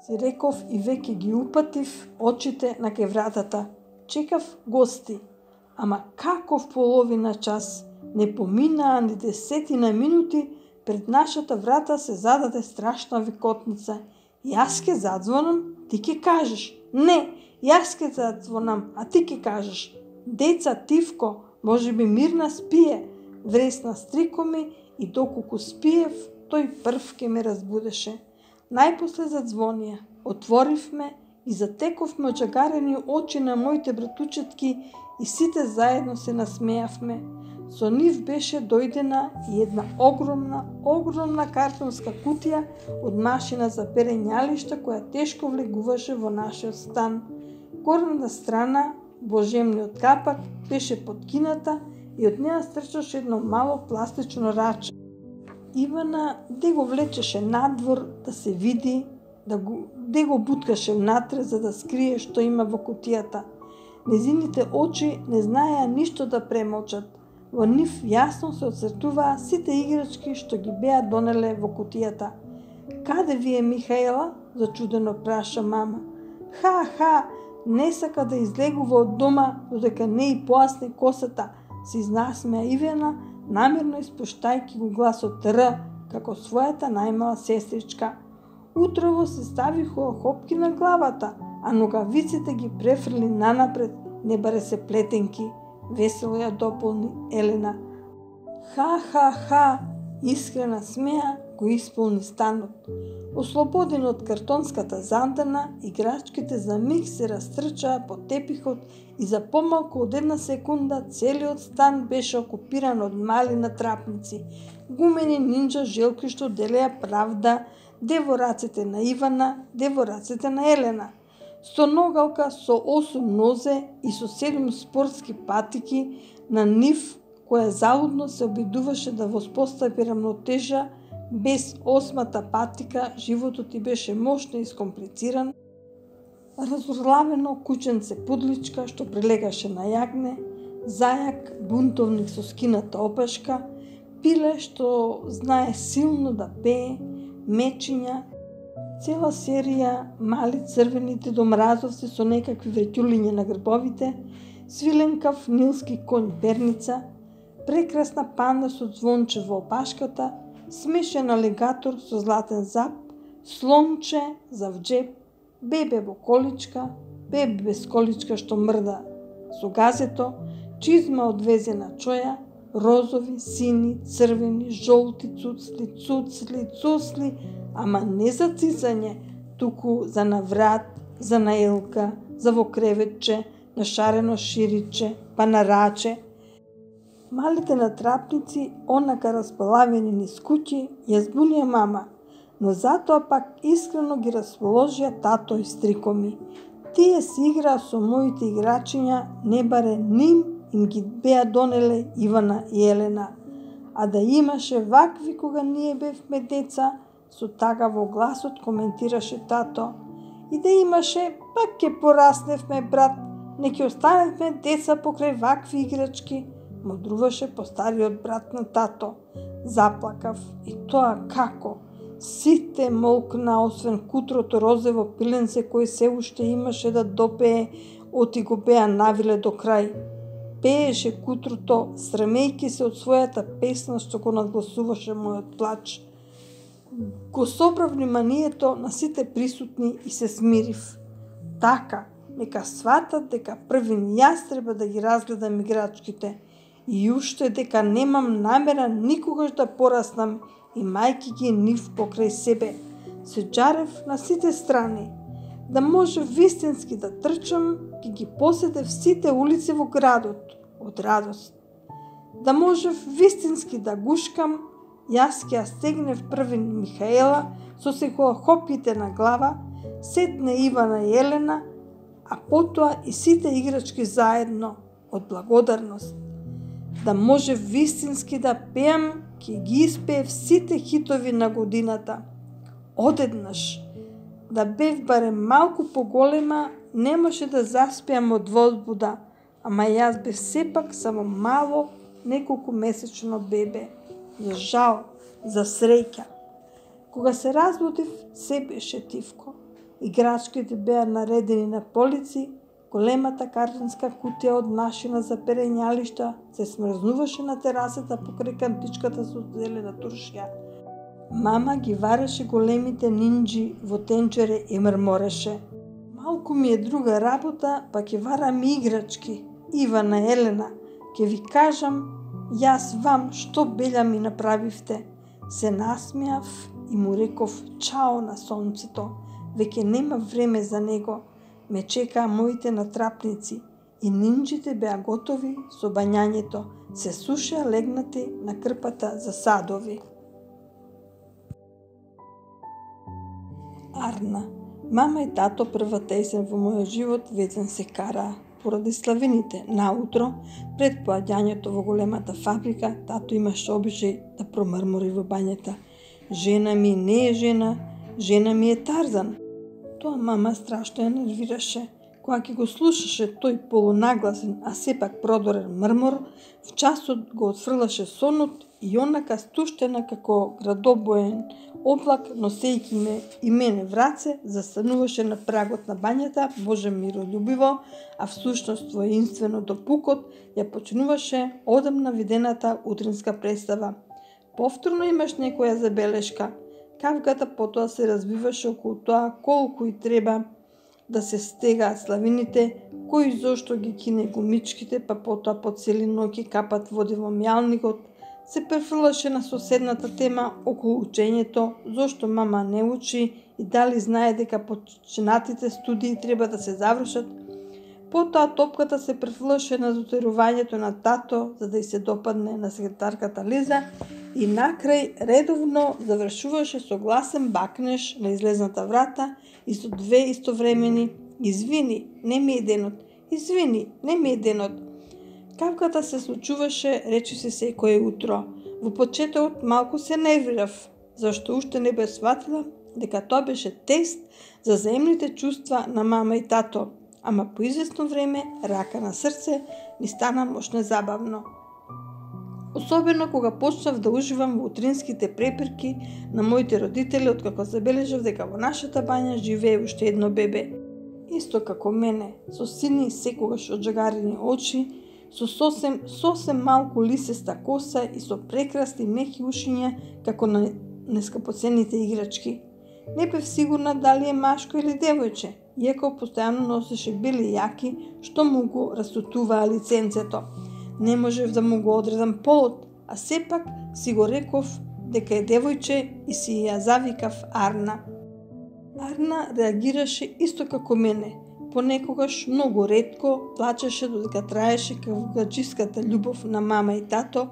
Си реков и веќе ги упатив очите на кај вратата. Чекав гости. Ама каков половина час? Не поминаа ни десетина минути, пред нашата врата се зададе страшна викотница. Јас ке задзвонам, ти ке кажеш. Не, јас ке задзвонам, а ти ке кажеш. Деца, Тивко, може би Мирна спие. Вресна стрико ми и доколку спиев, тој прв ке ме разбудеше. Најпосле задзвонија, отворивме и затековме очагарени очи на моите братучетки и сите заедно се насмеавме. Со нив беше дојдена и една огромна, огромна картонска кутија од машина за перење јалишта која тешко влегуваше во нашиот стан. Горната страна, божемниот капак, беше подкината и од неа стрчаше едно мало пластично раче. Ивана де го влечеше надвор да се види, да го, де го буткаше внатре за да скрие што има во кутијата. Незините очи не знаеа ништо да премолчат. Во нив јасно се отцртуваа сите играчки што ги беа донеле во кутијата. Каде ви е Михаела? Зачудено праша мама. Ха-ха, не сака да излегува од дома додека не и поасне косата, се изнасмеа Ивана, намерно испуштајќи го гласот Р, како својата најмала сестричка. Утрово се ставиха хопки на главата, а ногавиците ги префрли нанапред, не баре се плетенки. Весело ја дополни Елена. Ха-ха-ха, искрена смеа го исполни станот. Ослободени од картонската зандана, играчките за миг се растрчаа по тепихот и за помалку од една секунда целиот стан беше окупиран од мали натрапници. Гумени нинџа желки што делеа правда, де во рацете на Ивана, де во рацете на Елена. Стоногалка со осум нозе и со седум спортски патики на нив, која залудно се обидуваше да воспостави рамнотежа. Без осмата патика животот ти беше мощно искомплициран. Разорлавено кученце пудличка што прилегаше на јагне, зајак бунтовник со скината опашка, пиле што знае силно да пее, мечиња Цела серија мали црвените домразовци со некакви вреќулиња на грбовите, свиленкав нилски конј перница, прекрасна панда со звонче во опашката, смешен алигатор со златен зап, слонче за в джеп, бебе во количка, бебе без количка што мрда со газето, чизма одвезена чоја, розови, сини, црвени, жолти цуцли, цуцли, цуцли, ама не за цицање, туку за наврат, за наелка, за во креветче, на шарено шириче, па на раче. Малите натрапници, онака располавени низ куќи, ја збунија мама, но затоа пак искрено ги расположија тато и стрико ми. Тие си играа со моите играчиња, не баре ним им ги беа донеле Ивана и Елена. А да имаше вакви кога ние бевме деца, со тага во гласот коментираше тато. И да имаше, пак ќе порасневме, брат, не ќе останевме деца покрај вакви играчки, мудруваше постариот брат на тато. Заплакав. И тоа како? Сите молкна, освен кутрото розево пиленце кој се уште имаше да допее, оти го беа навиле до крај. Пееше кутрото, срамејки се од својата песна што го надгласуваше мојот плач. Го собрав вниманието на сите присутни и се смирив. Така, нека сватат дека првин јас треба да ги разгледам играчките и уште дека немам намера никогаш да пораснам и мајки ги нив покрај себе. Се джарев на сите страни. Да може вистински да трчам, ги ги поседев сите улици во градот од радост. Да може вистински да гушкам, јас ќе ја стегнев првин Михаела со секојахопите на глава, сетне Ивана и Елена, а потоа и сите играчки заедно од благодарност. Да може вистински да пеам, ќе ги испеев сите хитови на годината. Одеднаш, да бев барем малку поголема, немаше да заспеам од возбуда, ама јас бев сепак само мало, неколку месечно бебе. За жал, за среќа. Кога се разбудив, се беше тивко. Играчките беа наредени на полици, големата картонска кутија од машина за перењалишта се смрзнуваше на терасата покрај кантичката со зелена туршија. Мама ги вареше големите нинџи во тенџере и мрмореше. Малку ми е друга работа, па ќе варам играчки. Ивана, Елена, ќе ви кажам, јас вам што белја ми направивте. Се насмеав и му реков чао на сонцето. Веќе нема време за него. Ме чекаа моите натрапници и нинџите беа готови со бањањето. Се сушеа легнати на крпата за садови. Арна. Мама и тато првата есен во мојот живот вечен се караа. Поради славините, наутро, пред поаѓањето во големата фабрика, тато имаше обичај да промрмори во бањата. Жена ми не е жена, жена ми е Тарзан. Тоа мама страшно ја нервираше. Кога ќе го слушаше тој полунагласен, а сепак продорен мрмор, в часот го отфрлаше сонот и онака стуштена како градобоен облак, носејќи ме и мене в раце, застануваше на прагот на бањата, Боже миролюбиво, а всушност воинствено до пукот, ја почнуваше одамна видената утринска представа. Повторно имаш некоја забелешка. Кавгата потоа се разбиваше околу тоа колку и треба да се стегаат славините, кои зошто ги кине гумичките, па потоа по цели ноќи капат води во мјалникот, се префрлаше на соседната тема околу учењето, зошто мама не учи и дали знае дека почнатите студии треба да се завршат. Потоа топката се префрлаше на дотерувањето на тато, за да й се допадне на секретарката Лиза и накрај редовно завршуваше со гласен бакнеш на излезната врата и со две истовремени "Извини, не ми е денот, извини, не ми е денот". Кавката се случуваше речиси секое утро. Во почетокот малку се нервирав, зашто уште не бе сватила дека тоа беше тест за заемните чувства на мама и тато, ама по известно време, рака на срце, ни стана мощно забавно. Особено кога почнав да уживам во утринските препирки на моите родители откако забележав дека во нашата бања живее уште едно бебе. Исто како мене, со сини секогаш оджагарени очи, со сосем, сосем малку лисеста коса и со прекрасни меки ушиња како на нескапоцените играчки. Не бев сигурна дали е машко или девојче, иако постојано носеше бели јаки што му го расутуваа лиценцето. Не можев да му го одредам полот, а сепак си го реков дека е девојче и си ја завикав Арна. Арна реагираше исто како мене. Понекогаш многу ретко плачеше додека траеше кавгаџиската љубов на мама и тато,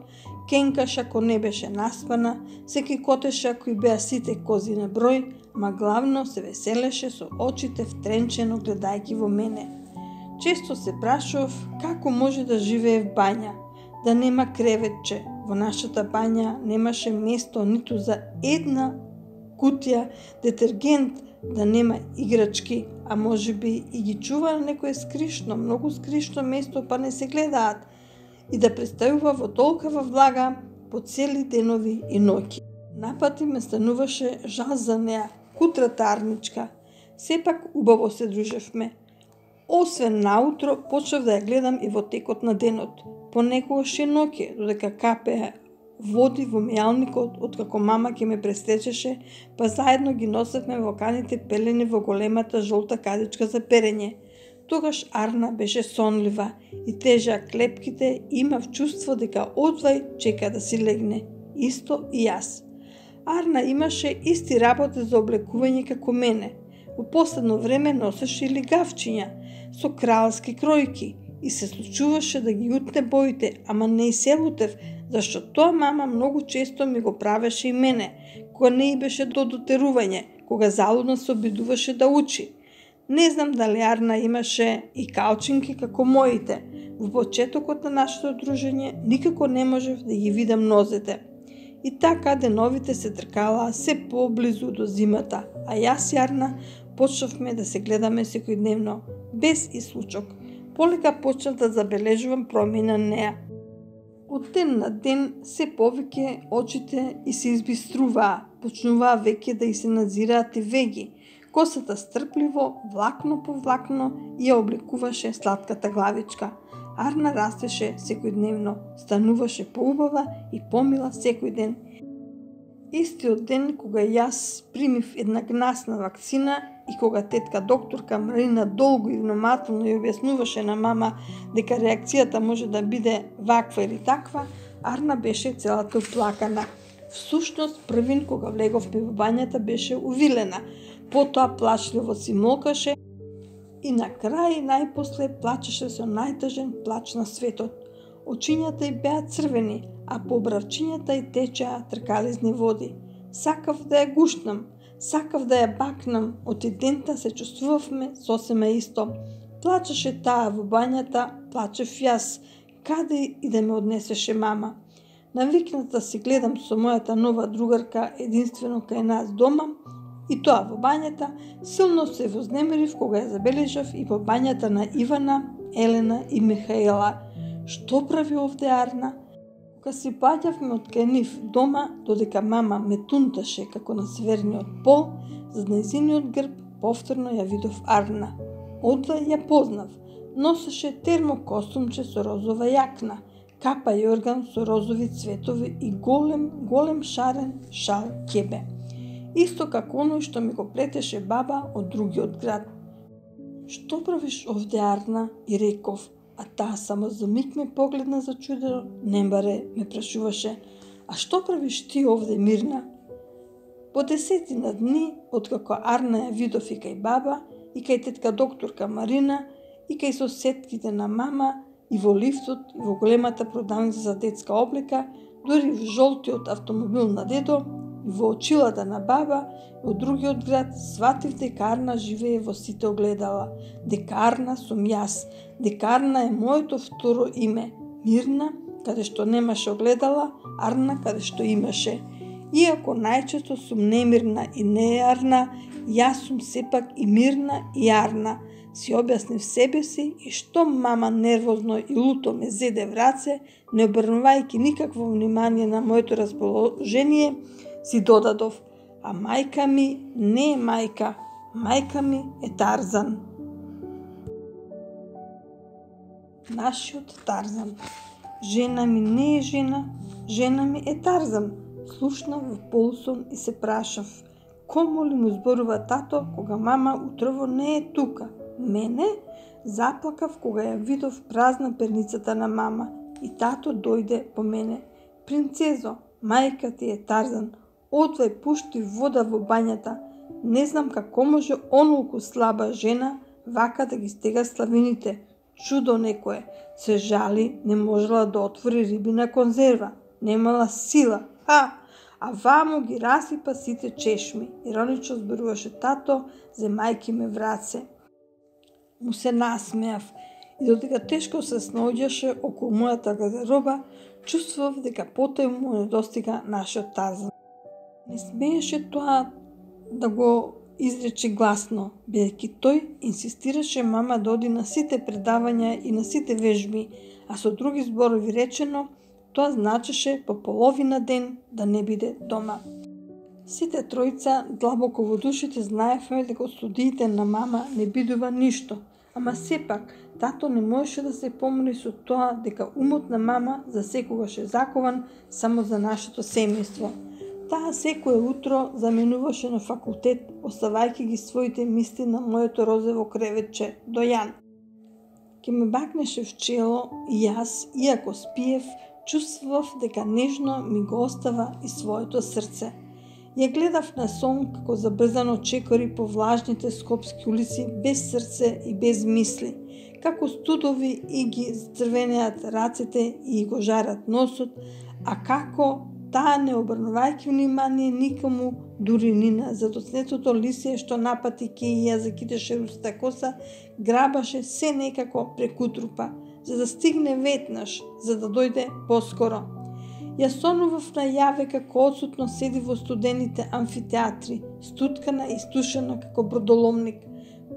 кенкаш ако не беше наспана, се кикотеше ако и беа сите кози на број, ма главно се веселеше со очите втренчено гледајќи во мене. Често се прашував како може да живее в бања, да нема креветче. Во нашата бања немаше место ниту за една кутија детергент, да нема играчки, а може би и ги чува на некое скришно, многу скришно место, па не се гледаат, и да представува во толкава влага по цели денови и ноќи. Напати ме стануваше жал за неа, кутрата Арничка. Сепак убаво се дружевме. Освен наутро, почнав да ја гледам и во текот на денот. Понекогаш и ноќе, додека капеа води во мејалникот, откако мама ќе ме престечеше, па заедно ги носевме во каните пелени во големата жолта кадичка за перење. Тогаш Арна беше сонлива и тежа клепките и имав чувство дека одвај чека да си легне. Исто и јас. Арна имаше исти работи за облекување како мене. Во последно време носеше и лигавчиња со кралски кројки и се случуваше да ги утне боите, ама не и се лутев, зашто тоа мама многу често ми го правеше и мене, кога не и беше до дотерување, кога залудно се обидуваше да учи. Не знам дали Арна имаше и калчинки како моите. Во почетокот на нашето дружење никако не можев да ги видам нозете. И така деновите се тркалаа се поблизу до зимата, а јас и Арна почнавме да се гледаме секојдневно, без исклучок. Полека почнав да забележувам промени на неа. Од ден на ден се повеќе очите и се избиструваа, почнуваа веќе да и се надзираат и веги. Косата стрпливо, влакно по влакно, ја облекуваше сладката главичка. Арна растеше секојдневно, стануваше поубава и помила секој ден. Истиот ден кога јас примив една гнасна вакцина и кога тетка докторка Марина долго и внимателно ја објаснуваше на мама дека реакцијата може да биде ваква или таква, Арна беше целата уплакана. Всушност, првин кога влеговме во бањата беше увилена, потоа плачливо си молкаше и на крај најпосле плачеше со најтажен плач на светот. Очињата й беа црвени, а по обравчињата й течеа тркализни води. Сакав да ја гушнам, сакав да ја бакнам, од идента се чувствувавме сосема исто. Плачеше таа во бањата, плачев јас, каде и да ме однесеше мама. Навикната си гледам со мојата нова другарка единствено кај нас дома, и тоа во бањата, силно се вознемирив кога ја забележав и во бањата на Ивана, Елена и Михаела. Што прави овде Арна? Кога си паѓавме од кај нив дома, додека мама ме тунташе како на северниот пол, за нејзиниот грб повторно ја видов Арна. Одва ја познав. Носеше термокостумче со розова јакна, капа јорган со розови цветови и голем, голем шарен шал ќебе. Исто како оној што ми го плетеше баба од другиот град. Што правиш овде Арна? И реков, а таа само за миг ме погледна зачудено, не баре ме прашуваше, а што правиш ти овде Мирна? По десетина дни, откако Арна ја видов и кај баба, и кај тетка докторка Марина, и кај соседките на мама, и во лифтот, и во големата продавница за детска облека, дури во жолтиот автомобил на дедо, и во очилата на баба, и од другиот град, сватив дека Арна живее во сите огледала, дека Арна сум јас, дека Арна е моето второ име, Мирна, каде што немаше огледала, Арна каде што имаше. Иако најчесто сум немирна и не Арна, јас сум сепак и Мирна и Арна. си објаснив себе си и што мама нервозно и луто ме зеде в раце, не обрнувајќи никакво внимание на моето расположение, си додадов: а мајка ми не е мајка, мајка ми е Тарзан. Нашиот Тарзан. Жена ми не е жена, жена ми е Тарзан. Слушнав во полусон и се прашав: кому ли му зборува тато кога мама утрово не е тука? Мене? Заплакав кога ја видов празна перницата на мама и тато дојде по мене. Принцезо, мајка ти е Тарзан, отвај пушти вода во бањата. Не знам како може онолку слаба жена вака да ги стега славините. Чудо некое. Се жали, не можела да отвори рибина конзерва. Немала сила. Ха! А вамо ги расипа сите чешми. Иронично зборуваше тато, за мајки ме враце. Му се насмеав и додека тешко се снаоѓаше околу мојата гардероба, чувствував дека потоа му недостига нашиот Тарзан. Не смееше тоа да го изрече гласно, бидејќи тој инсистираше мама да оди на сите предавања и на сите вежби, а со други зборови речено, тоа значеше по половина ден да не биде дома. Сите тројца длабоко во душите знаевме дека од студиите на мама не бидува ништо, ама сепак тато не можеше да се помири со тоа дека умот на мама засекогаш е закован само за нашето семејство. Таа секое утро заменуваше на факултет, оставајќи ги своите мисли на моето розово креветче до Јан. Ке ме бакнеше в чело и јас, иако спиев, чувствував дека нежно ми го остава и своето срце. Ја гледав на сон како забрзано чекори по влажните скопски улици без срце и без мисли, како студови и ги зцрвенеат рацете и го жарат носот, а како таа не обрнувајќи внимание никому, дури ни на задоцнетото лисе што напати ке и ја закидеше русата коса, грабаше се некако преку трупа, за да стигне ветнаш, за да дојде поскоро. Ја сонував најаве како одсутно седи во студените амфитеатри, стуткана и стушена како бродоломник.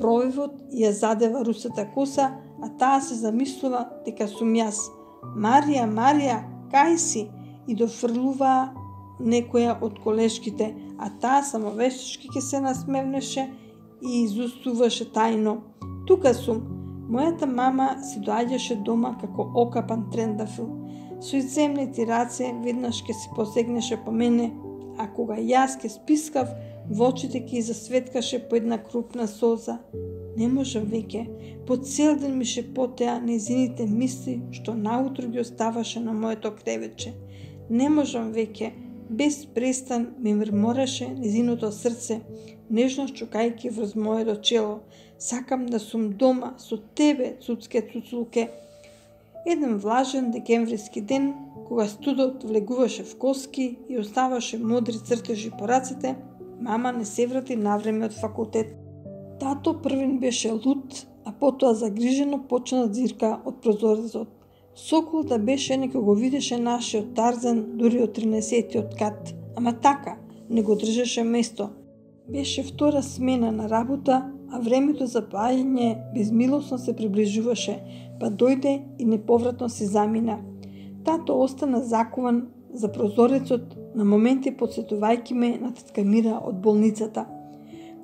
Провивот ја задева русата коса, а таа се замислува дека сум јас. Марија, Марија, кај си? И дофрлуваа некоја од колешките, а таа само вештички ке се насмевнеше и изустуваше тајно: тука сум. Мојата мама си доаѓаше дома како окапан трендафил. Со изземните раце веднаш ке се посегнеше по мене, а кога јас ке спискав, во очите ке засветкаше по една крупна соза. Не можам веќе, по цел ден ми шепотеа незините мисли што наутро ги оставаше на моето креветче. Не можам веќе, без престан ми мрмореше незиното срце, нежно чукајќи врз моето чело. Сакам да сум дома со тебе, цуцке цуцулке. Еден влажен декемвриски ден, кога студот влегуваше в коски и оставаше модри цртежи по рацете, мама не се врати навреме од факултет. Тато првин беше лут, а потоа загрижено почна да зирка од прозорецот. Сокол да беше нека го видеше нашиот Тарзан дури од тринесеттиот кат, ама така, не го држеше место. Беше втора смена на работа, а времето за паѓање безмилосно се приближуваше, па дојде и неповратно се замина. Тато остана закован за прозорецот, на моменти подсетувајќи ме на тетка Мира од болницата.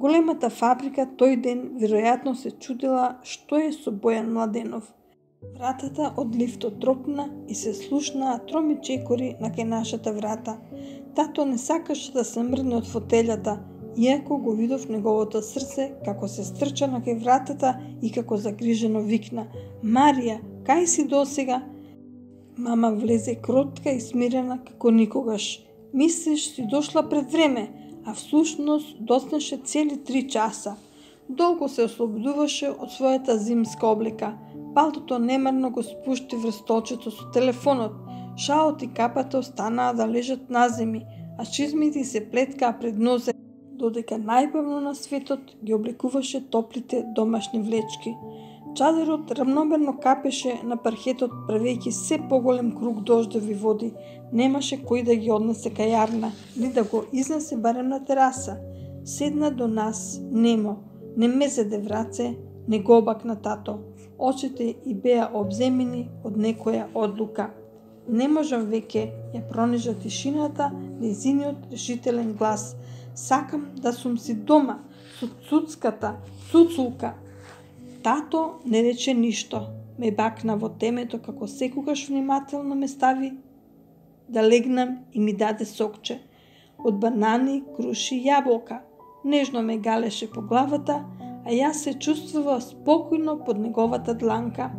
Големата фабрика тој ден веројатно се чудела што е со Бојан Младенов. Вратата од лифтот тропна и се слушнаа троми чекори на кај нашата врата. Тато не сакаше да се мрдне од фотелјата, иако го видов неговото срце како се стрча на кај вратата и како загрижено викна: Марија, кај си досега? Мама влезе кротка и смирена како никогаш. Мислиш си дошла пред време, а всушност доснеше цели три часа. Долго се ослободуваше од својата зимска облека. Палтото немарно го спушти врз столчето со телефонот. Шалот и капата останаа да лежат на земи, а чизмите се плеткаа пред нозе, додека најбавно на светот ги облекуваше топлите домашни влечки. Чадерот рамномерно капеше на пархетот, правејќи се поголем круг дождови води. Немаше кој да ги однесе кај јарна, ни да го изнесе барем на тераса. Седна до нас, немо, не ме зеде враце, не го обакна тато. Очите и беа обземени од некоја одлука. Не можам веќе, ја пронижа тишината, нејзиниот решителен глас. Сакам да сум си дома, со цуцката, цуцулка. Тато не рече ништо. Ме бакна во темето како секогаш внимателно ме стави да легнам и ми даде сокче. Од банани, круши и јаболка. Нежно ме галеше по главата, а јас се чувствува спокојно под неговата дланка.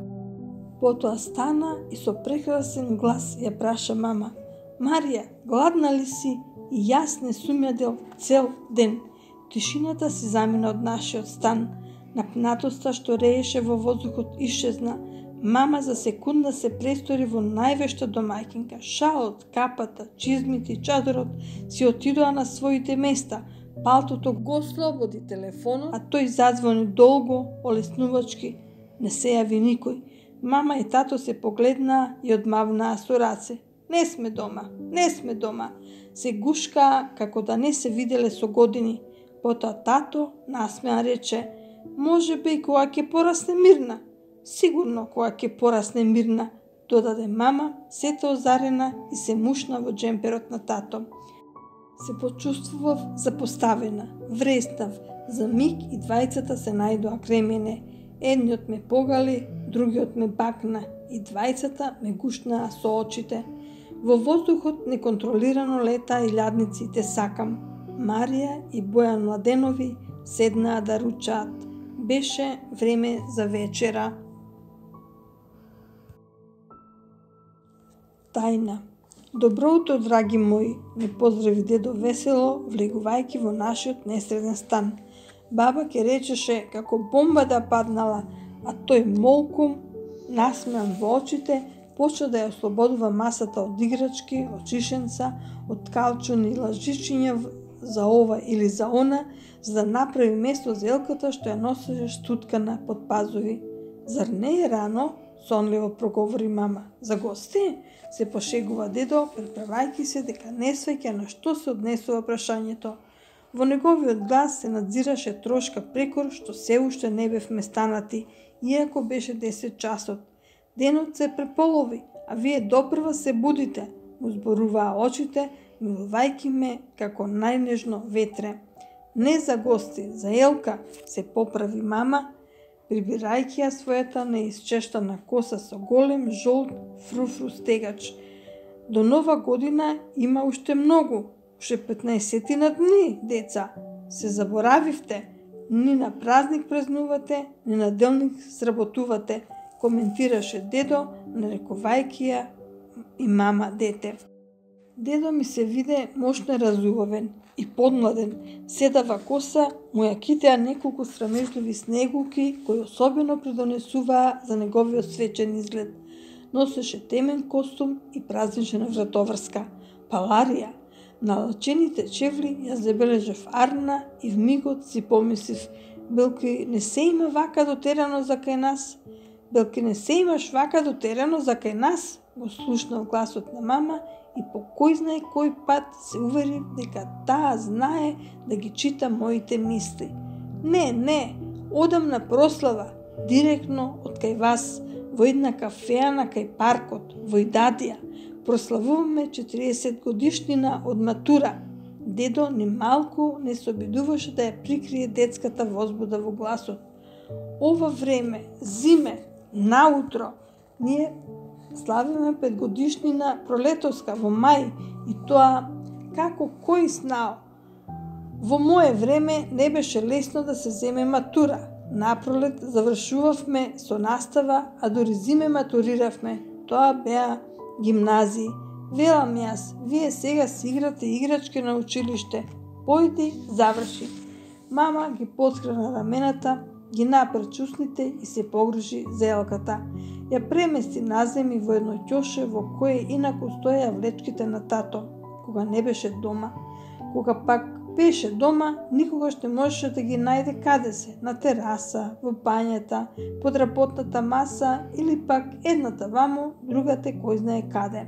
Потоа стана и со прекрасен глас ја праша мама: Марија, гладна ли си? И јас не сум јадел цел ден. Тишината се замина од нашиот стан. Напнатоста што рееше во воздухот исчезна. Мама за секунда се престори во највешта домаќинка. Шалот, капата, чизмите и чадорот си отидоа на своите места. Палтото го слободи телефонот, а тој зазвони долго, олеснувачки. Не се јави никој. Мама и тато се погледнаа и одмавнаа со раце. Не сме дома, не сме дома. Се гушкаа како да не се виделе со години. Потоа тато насмеан рече: може би кога ќе порасне Мирна. Сигурно кога ќе порасне Мирна, додаде мама, сета озарена и се мушна во джемперот на тато. Се почувствував запоставена, вреснав. За миг и двајцата се најдоа крај мене. Едниот ме погали, другиот ме бакна и двајцата ме гушнаа со очите. Во воздухот неконтролирано лета и лјадници те сакам. Марија и Бојан Младенови седнаа да ручаат. Беше време за вечера. Тајна. Добро утро, драги мои, ме поздрави дедо весело, влегувајќи во нашиот несреден стан. Баба ке речеше како бомба да паднала, а тој молкум, насмеан во очите, почна да ја ослободува масата од играчки, од шишенца, од калчуни и лажичиња за ова или за она, за да направи место за елката што ја носеше штуткана под пазови. Зар не е рано? Сонливо проговори мама. За гости? Се пошегува дедо, преправајќи се дека не сваќа на што се однесува прашањето. Во неговиот глас се надзираше трошка прекор што се уште не бевме станати, иако беше десет часот. Денот се преполови, а вие допрва се будите, му зборуваа очите, милувајќи ме како најнежно ветре. Не за гости, за Елка, се поправи мама, прибирајќи ја својата неисчештана коса со голем жолт фруфру стегач. До нова година има уште многу, уште петнаесетина дни, деца. Се заборавивте, ни на празник празнувате, ни на делник сработувате, коментираше дедо, нарекувајќи ја и мама дете. Дедо ми се виде мошно разубавен и подмладен. Седава коса му ја китеа неколку срамежливи снегулки кои особено придонесуваа за неговиот свечен изглед. Носеше темен костум и празнична вратоврска. Паларија. На лачените чевли ја забележав Арна и вмигот си помислив: Белки не се има вака дотерано за кај нас? Белки не се имаш вака дотерано за кај нас? Го слушнав гласот на мама и по кој знае кој пат се увери дека таа знае да ги чита моите мисли. Не, не, одам на прослава, директно од кај вас, во една кафеана кај паркот, во Идадија. Прославуваме четириесет годишнина од матура. Дедо ни малку не се обидуваше да ја прикрие детската возбуда во гласот. Ова време, зиме, наутро, ние славиме петгодишнина пролетовска во мај и тоа како кој знао. Во мое време не беше лесно да се земе матура. Напролет завршувавме со настава, а дури зиме матуриравме. Тоа беа гимназии. Велам јас, вие сега си играте играчки на училиште. Појди, заврши. Мама ги потскрена рамената, ги напре чусните и се погрижи за Елката. Ја премести наземи во едно ќоше во кое инаку стоја влечките на тато, кога не беше дома. Кога пак беше дома, никогаш не можеше да ги најде каде се, на тераса, во бањата, под работната маса или пак едната вамо, другата кој знае каде.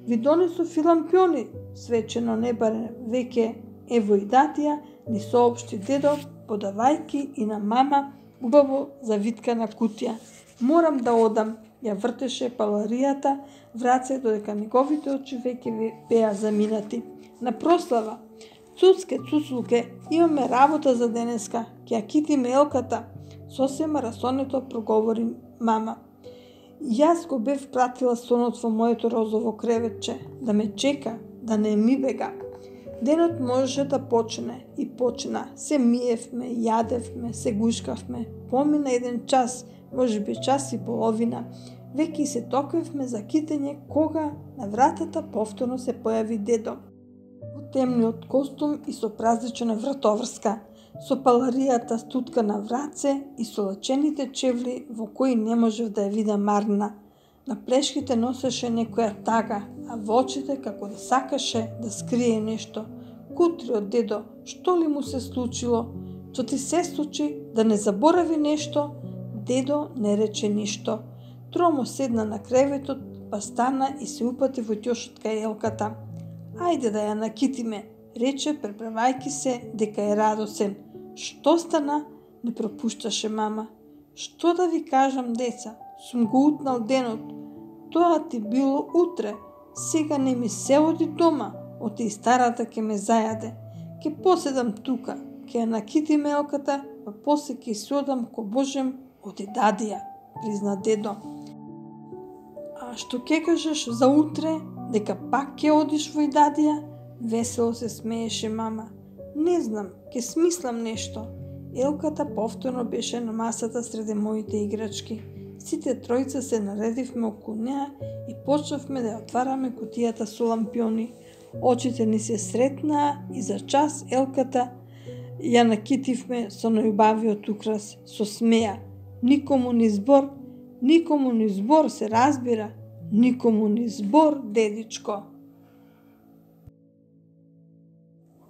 Ви донесов филампиони, свечено небаре веќе е во Идатија, ни соопшти дедо, подавајки и на мама убаво завиткана кутија. Морам да одам, ја вртеше паларијата в раце додека неговите очи веќе беа заминати. На прослава, цуцке, цуцлуке, имаме работа за денеска, ќе ја китиме елката, сосема расонето проговори мама. Јас го бев пратила сонот во моето розово креветче, да ме чека, да не ми бега. Денот можеше да почне и почна. Се миевме, јадевме, се гушкавме. Помина еден час, можеби час и половина. Веќе се токвевме за китење кога на вратата повторно се појави дедо. Во темниот костум и со празличена вратоврска, со паларијата стутка на враце и со лачените чевли во кои не можев да ја видам Марна. На плешките носеше некоја тага, а во очите како да сакаше да скрие нешто. Кутри од дедо, што ли му се случило? Што ти се случи, да не заборави нешто? Дедо не рече ништо. Тромо седна на креветот, па стана и се упати во ќошот кај елката. Ајде да ја накитиме, рече преправајки се дека е радосен. Што стана? Не пропушташе мама. Што да ви кажам, деца? Сум го утнал денот. Тоа ти било утре. Сега не ми се оди дома. Оти и старата ке ме зајаде. Ке поседам тука, ке ја накитиме елката, па после ке се одам ко Божем оди дадија, призна дедо. А што ке кажеш за утре, дека пак ке одиш во Идадија? Весело се смееше мама. Не знам, ке смислам нешто. Елката повторно беше на масата среде моите играчки. Сите тројца се наредивме околу неа и почнавме да ја отвараме кутијата со лампиони. Очите ни се сретнаа и за час елката ја накитивме со најубавиот украс, со смеа. Никому ни збор, никому ни збор, се разбира, никому ни збор, дедичко.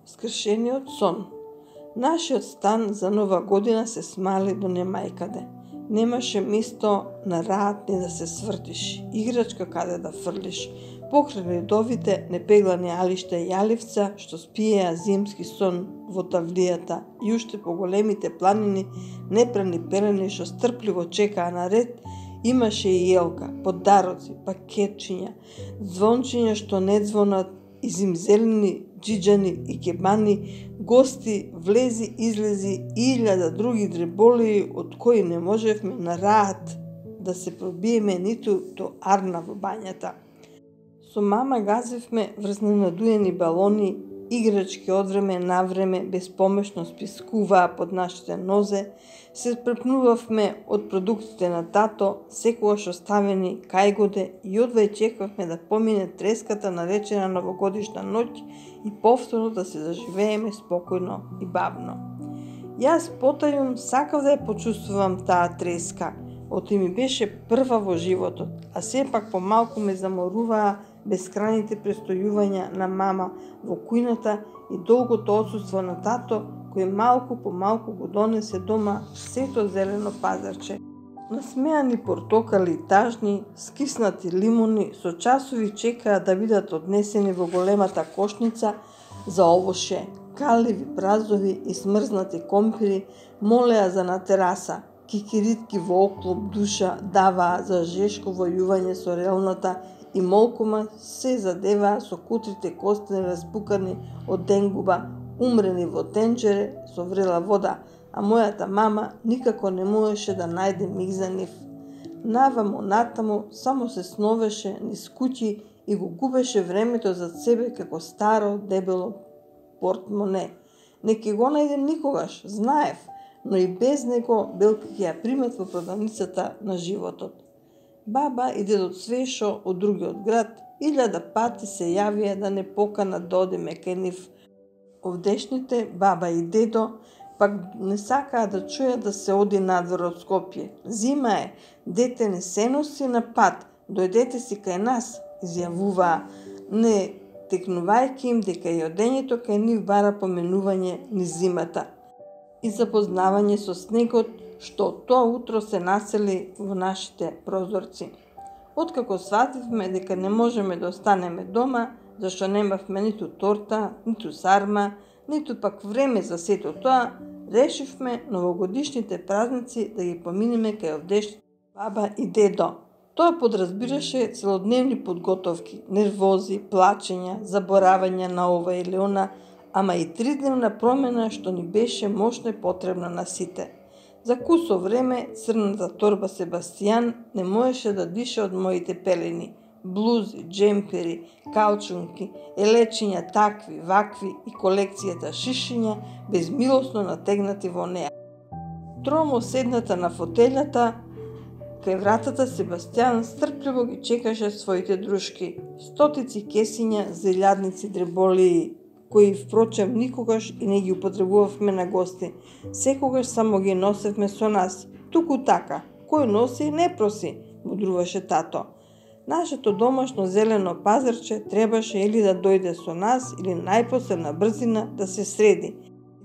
Скршениот сон. Нашиот стан за нова година се смали до немајкаде. Немаше место на раат ни да се свртиш, играчка каде да фрлиш. Покрај редовите непеглани алишта и јаливца, што спиеа зимски сон во тавлијата, и уште по големите планини, непрани пелени што стрпливо чекаа на ред, имаше и елка, подароци, пакетчиња, звончиња што не звонат, и зимзелени, џиџани и кебани, гости, влези, излези и илјада други дреболии од кои не можевме на раат да се пробиеме ниту до арна во бањата. Со мама газевме врз ненадуени балони, играчки од време на време безпомешно спискуваа под нашите нозе, се препнувавме од продуктите на тато, секогаш оставени кајгоде и одвај чекавме да помине треската наречена новогодишна ноќ и повторно да се заживееме спокојно и бавно. Јас потајум сакав да ја почувствувам таа треска, оти ми беше прва во животот, а сепак помалку ме заморуваа бескрајните престојувања на мама во кујната и долгото отсуство на тато, кој малку по малку го донесе дома сето зелено пазарче. Насмеани портокали и тажни, скиснати лимуни со часови чекаа да бидат однесени во големата кошница за овоше. Каливи празови и смрзнати компири молеа за на тераса. Кикиритки во оклоп душа даваа за жешково јување со релната и молкума се задеваа со кутрите костени распукани од денгуба, умрени во тенџере со врела вода, а мојата мама никако не можеше да најде миг за нив. Наваму натаму само се сновеше низ куќи и го губеше времето зад себе како старо дебело портмоне. Не ке го најдем никогаш, знаев, но и без него Белка ќе ја примат во продавницата на животот. Баба и дедот Свешо од другиот град илјада пати се јавија да не поканат да одиме кај нив. Овдешните баба и дедо пак не сакаа да чујат да се оди надвор од Скопје. Зима е, дете не се носи на пат, дојдете си кај нас, изјавуваа, не текнувајќи им дека и одењето кај нив бара поменување низ зимата и запознавање со снегот, што тоа утро се насели во нашите прозорци. Откако свативме дека не можеме да останеме дома, зашто немавме ниту торта, ниту сарма, ниту пак време за сето тоа, Решивме новогодишните празници да ги поминеме кај овдешните баба и дедо. Тоа подразбираше целодневни подготовки, нервози, плачења, заборавање на ова или она, ама и тридневна промена што ни беше мощно и потребна на сите. За кусо време црната торба Себастијан не можеше да дише од моите пелени, блузи, джемпери, каучунки, елечиња такви, вакви и колекцијата шишиња безмилосно натегнати во неа. Тромо седната на фотелјата, кај вратата Себастијан стрпливо ги чекаше своите друшки, стотици кесиња, зелјадници, дреболии, кои впрочем никогаш и не ги употребувавме на гости. Секогаш само ги носевме со нас. Туку така, кој носи не проси, мудруваше тато. Нашето домашно зелено пазарче требаше или да дојде со нас, или најпосле на брзина да се среди.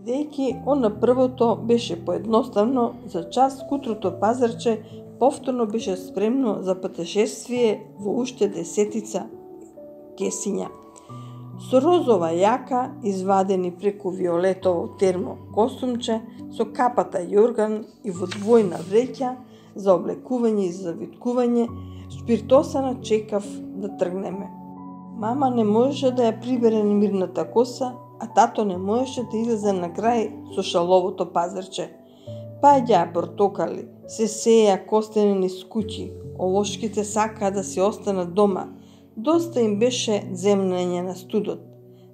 Бидејќи она првото беше поедноставно, за час кутрото пазарче повторно беше спремно за патешествие во уште десетица кесиња. Со розова јака, извадени преку виолетово термо костумче, со капата јорган и во двојна вреќа за облекување и завиткување, спиртосана чекав да тргнеме. Мама не можеше да ја прибере немирната коса, а тато не можеше да излезе на крај со шаловото пазарче. Паѓаа портокали, се сеја костени низ куќи, овошките сакаа да се останат дома. Доста им беше земнење на студот.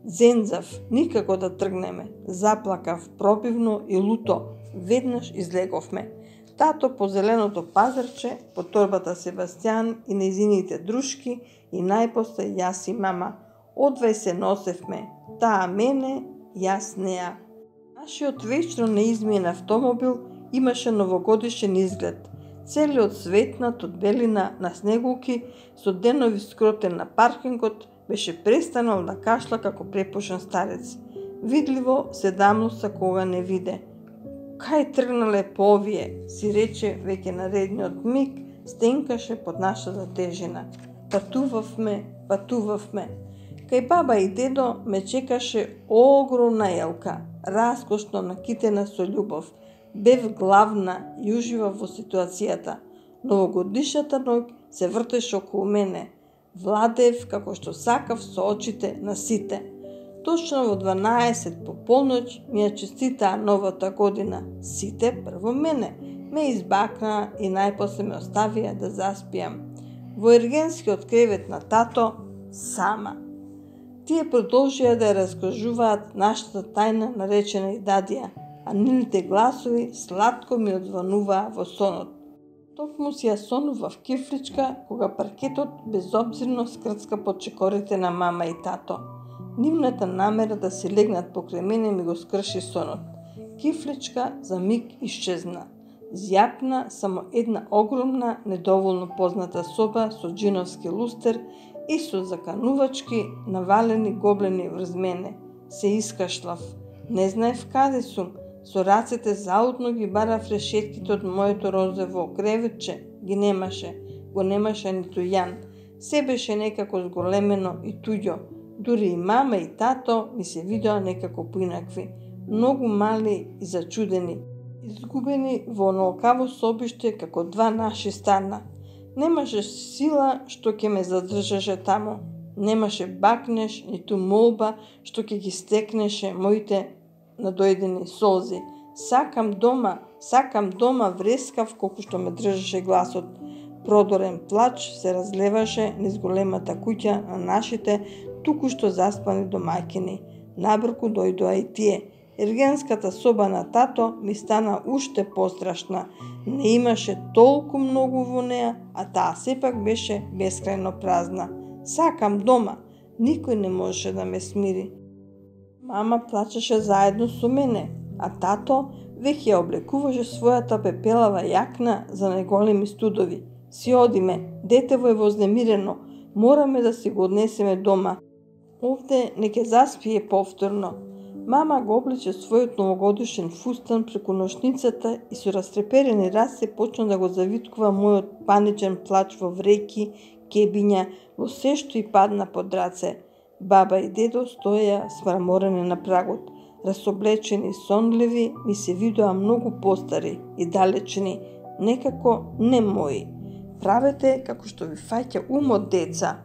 Зензав, никако да тргнеме. Заплакав пробивно и люто. Веднаш излеговме. Тато по зеленото пазарче, по торбата Себастијан и нејзините друшки и најпосле јас и мама. Одвај се носевме. Таа мене, јас неа. Нашиот вечно неизменен автомобил имаше новогодишен изглед. Целиот светнат од белина на снегулки, со денови скротен на паркингот, беше престанал да кашла како препушен старец. Видливо седамноста кога не виде. Кај тргнале по овие, си рече веќе наредниот миг, стенкаше под нашата тежина. Патувавме, патувавме. Кај баба и дедо ме чекаше огромна елка, раскошно накитена со љубов. Бев главна и уживав во ситуацијата. Новогодишната ноќ се вртеше околу мене. Владеев како што сакав со очите на сите. Точно во дванаесет по полноќ ми ја честитаа новата година. Сите прво мене. Ме избакнаа и најпосле ме оставија да заспијам. Во ергенскиот кревет на тато, сама. Тие продолжија да ја раскажуваат нашата тајна наречена и дадија, а нивните гласови сладко ми одзвонуваа во сонот. Токму си ја сонував кифличка, кога паркетот безобзирно скрцка под чекорите на мама и тато. Нивната намера да се легнат покрај мене ми го скрши сонот. Кифличка за миг исчезна. Зјапна само една огромна, недоволно позната соба со джиновски лустер и со заканувачки навалени гоблени врз мене. Се искашлав. Не знаев каде сум. Со рацете заудно ги барав решетките од моето розово креветче. Ги немаше. Го немаше ниту Јан. Се беше некако зголемено и туѓо. Дури и мама и тато ми се видоа некако поинакви. Многу мали и зачудени. Изгубени во онолкаво собиште како два наши стана. Немаше сила што ќе ме задржаше таму. Немаше бакнеш, ниту молба што ќе ги стекнеше моите надојдени солзи. Сакам дома, сакам дома, врескав колку што ме држеше гласот. Продорен плач се разлеваше низ големата куќа на нашите туку што заспани домаќини. Набрку дојдоа и тие. Ергенската соба на тато ми стана уште пострашна. Не имаше толку многу во неа, а таа сепак беше бескрајно празна. Сакам дома. Никој не можеше да ме смири. Мама плачеше заедно со мене, а тато веќе ја облекуваше својата пепелава јакна за најголеми студови. Си одиме, детево е вознемирено, мораме да си го однесеме дома. Овде не ќе заспие повторно. Мама го облече својот новогодишен фустан преку ношницата и со растреперени раце почна да го завиткува мојот паничен плач во вреќи, кебиња, во се што и падна под раце. Баба и дедо стоеја смраморени на прагот. расоблечени и сонливи, ми се видоа многу постари и далечни, некако не мои. Правете како што ви фаќа умот, деца.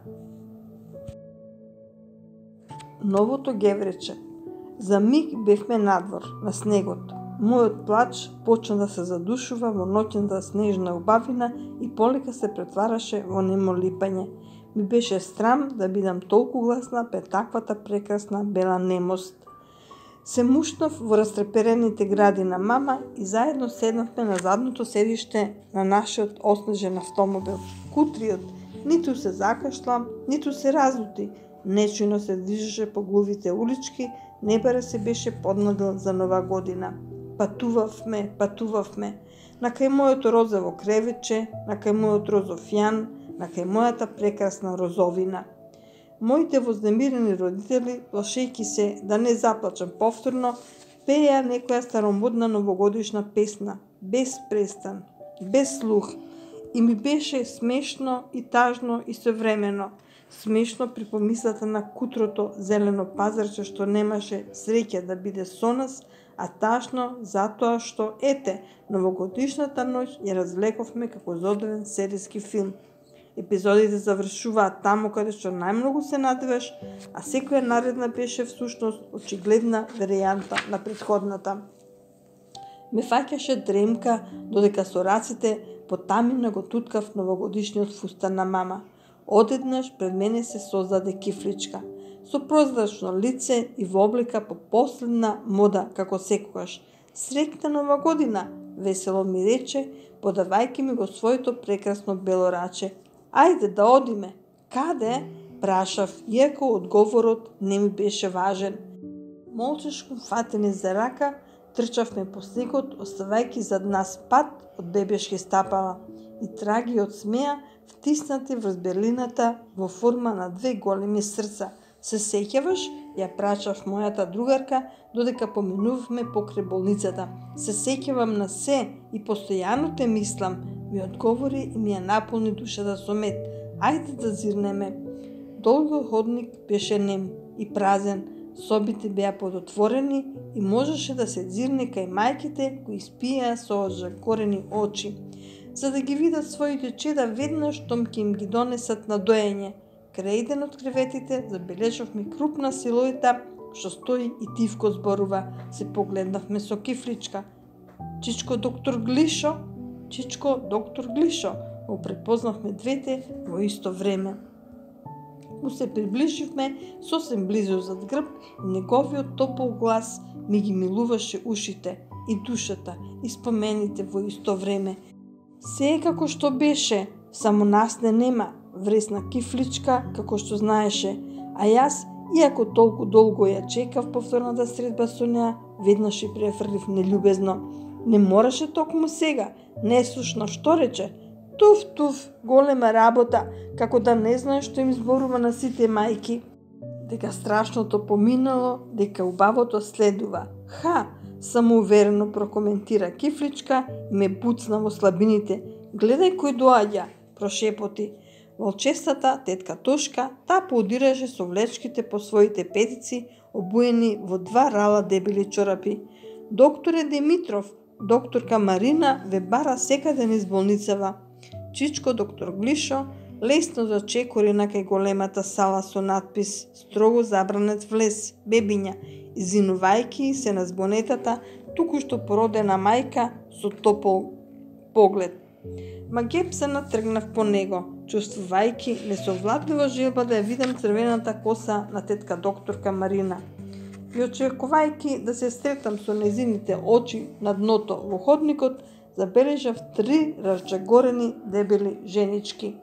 Новото геврече. За миг бевме надвор, на снегот. Мојот плач почна да се задушува во ноќната снежна убавина и полека се претвараше во немо липање. Ми беше срам да бидам толку гласна пред таквата прекрасна бела немост. Се мушнав во растреперените гради на мама и заедно седнавме на задното седиште на нашиот оснежен автомобил. Кутриот ниту се закашла, ниту се разлути. Нечујно се движеше по глувите улички, небаре се беше поднадил за нова година. Патувавме, патувавме, накај моето розово кревече, накај мојот розов јан, накај мојата прекрасна розовина. Моите вознемирени родители, плашејќи се да не заплачам повторно, пееа некоја старомодна новогодишна песна, без престан, без слух, и ми беше смешно и тажно истовремено. Смешно при помислата на кутрото зелено пазарче што немаше среќа да биде со нас, а тажно затоа што, ете, новогодишната ноќ ја развлековме како зодовен серијски филм. Епизодите завршуваат таму каде што најмногу се надеваш, а секоја наредна беше всушност очигледна варијанта на претходната. Ме фаќаше дремка, додека со раците потамина го туткав новогодишниот фустан на мама. Одеднаш пред мене се создаде кифличка, со прозрачно лице и во облика по последна мода како секогаш. Среќна нова година, весело ми рече, подавајќи ми го своето прекрасно бело раче. Ајде да одиме. Каде? Прашав, иако одговорот не ми беше важен. Молчешко фатени за рака, трчавме по снегот, оставајќи зад нас пат од бебешки стапала и траги од смеа, втиснати врз берлината во форма на две големи срца. Се сеќаваш? Ја прашав мојата другарка, додека поминувавме покрај болницата. Се сеќавам на се и постојано те мислам, ми одговори и ми ја наполни душата со мед. Ајде да зирнеме. Долгиот ходник беше нем и празен, собите беа подотворени и можеше да се зирне кај мајките кои спиеа со ожакорени очи, за да ги видат своите чеда веднаш штом ќе им ги донесат на доење. Крај еден од креветите забележавме крупна силуета што стои и тивко зборува. Се погледнавме со кифличка. Чичко доктор Глишо, чичко доктор Глишо, го препознавме двете во исто време. Му се приближивме сосем близо зад грб и неговиот топол глас ми ги милуваше ушите и душата и спомените во исто време. Се е како што беше, само нас не нема, вресна кифличка како што знаеше, а јас, иако толку долго ја чекав повторната средба со неа, веднаш и префрлив нељубезно. Не мораше токму сега, не слушна што рече. Туф, туф, голема работа, како да не знае што им зборува на сите мајки. Дека страшното поминало, дека убавото следува. Ха, самоуверено прокоментира кифличка и ме буцна во слабините. Гледај кој доаѓа, прошепоти. Волчестата тетка Тошка, та поудираше со влечките по своите петици, обуени во два рала дебели чорапи. Докторе Димитров, докторка Марина ве бара секаде низ болницава. Чичко доктор Глишо лесно зачекори на кај големата сала со надпис «Строго забранет влез, бебиња», изинувајќи се на збонетата туку-што породена мајка со топол поглед. Магеп се натргнав по него, чувствувајќи несовладлива желба да ја видам црвената коса на тетка докторка Марина. И очекувајќи да се сретам со незините очи на дното во ходникот, забележав три разджагорени дебели женички.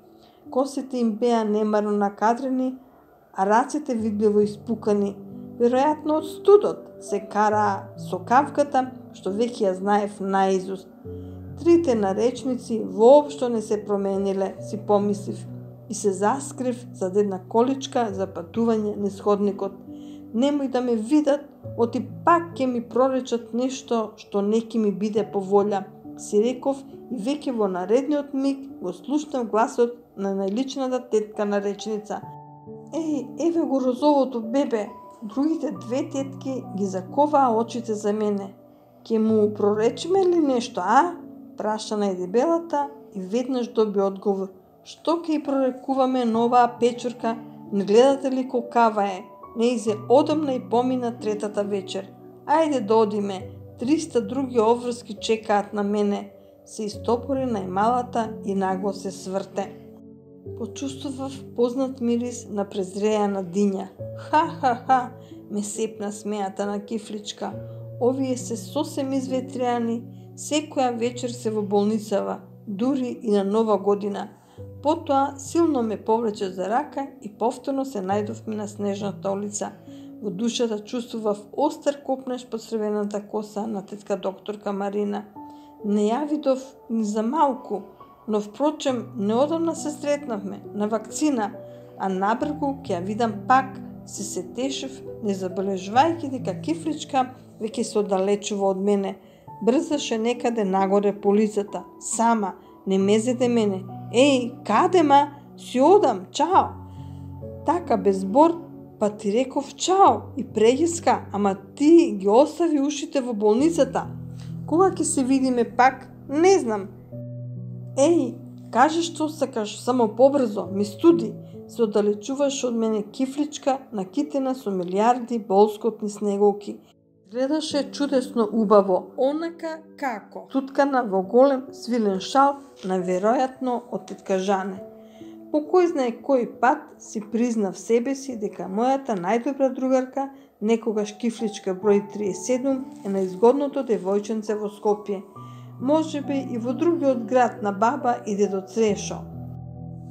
Косите им беа немарно накадрени, а раците видливо испукани. Веројатно од студот се караа со кавката, што веќе ја знаев наизуст. Трите наречници воопшто не се промениле, си помислив, и се заскрив зад една количка за патување низ ходникот. Немој да ме видат, оти пак ќе ми проречат нешто што не ќе ми биде по волја, си реков и веќе во наредниот миг го слушнав гласот на најличната тетка наречница. Еј, еве го розовото бебе, Другите две тетки ги заковаа очите за мене. Ке му проречиме ли нешто, а? Праша на дебелата и веднаш доби одговор. Што ке и прорекуваме на оваа печурка, не гледате ли колкава е? Не изе одамна и помина третата вечер. Ајде да одиме, триста други обврски чекаат на мене. Се истопори најмалата и нагло се сврте. Почувствував познат мирис на презреана диња. Ха-ха-ха, ме сепна смејата на кифличка. Овие се сосем изветријани, секоја вечер се во болницава, дури и на нова година. Потоа силно ме повлече за рака и повторно се најдовме на снежната улица. Во душата чувствував остар копнеш под црвената коса на тетка докторка Марина. Не ја видов ни за малку, но впрочем неодамна се сретнавме на вакцина, а набргу ќе ја видам пак, се сетешев, не забележувајќи дека кифличка веќе се оддалечува од мене. Брзаше некаде нагоре по улицата, сама, не мезете мене. Еј, каде ма? Си одам, чао! Така без збор, па ти реков чао и прејеска, ама ти ги остави ушите во болницата. Кога ќе се видиме пак, не знам. Еј, кажи што сакаш, само побрзо, ми студи. Се оддалечуваш од мене кифличка, накитена со милиарди болскотни снеголки. Гледаше чудесно убаво, онака како, туткана во голем свилен шал, наверојатно од тетка Жане. По кој знае кој пат си признав себе си дека мојата најдобра другарка, некогаш кифличка број триесет и седум, е најзгодното девојченце во Скопје. Можеби и во другиот град на баба и дедо Црешо.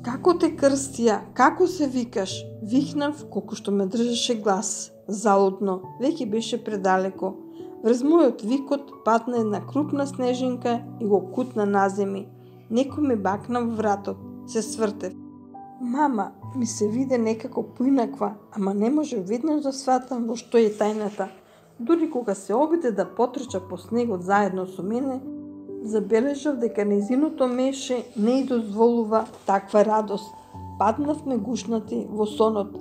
Како те крстија, како се викаш? Викнав колку што ме држеше глас. Залудно, веќе беше предалеко. Врз мојот викот падна една крупна снежинка и го кутна наземи. Некој ме бакна во вратот. Се свртев. Мама, ми се виде некако поинаква, ама не може веднаш да сватам во што е тајната. Дури кога се обиде да потрча по снегот заедно со мене, забележав дека нејзиното меше не ѝ дозволува таква радост. Паднавме гушнати во сонот.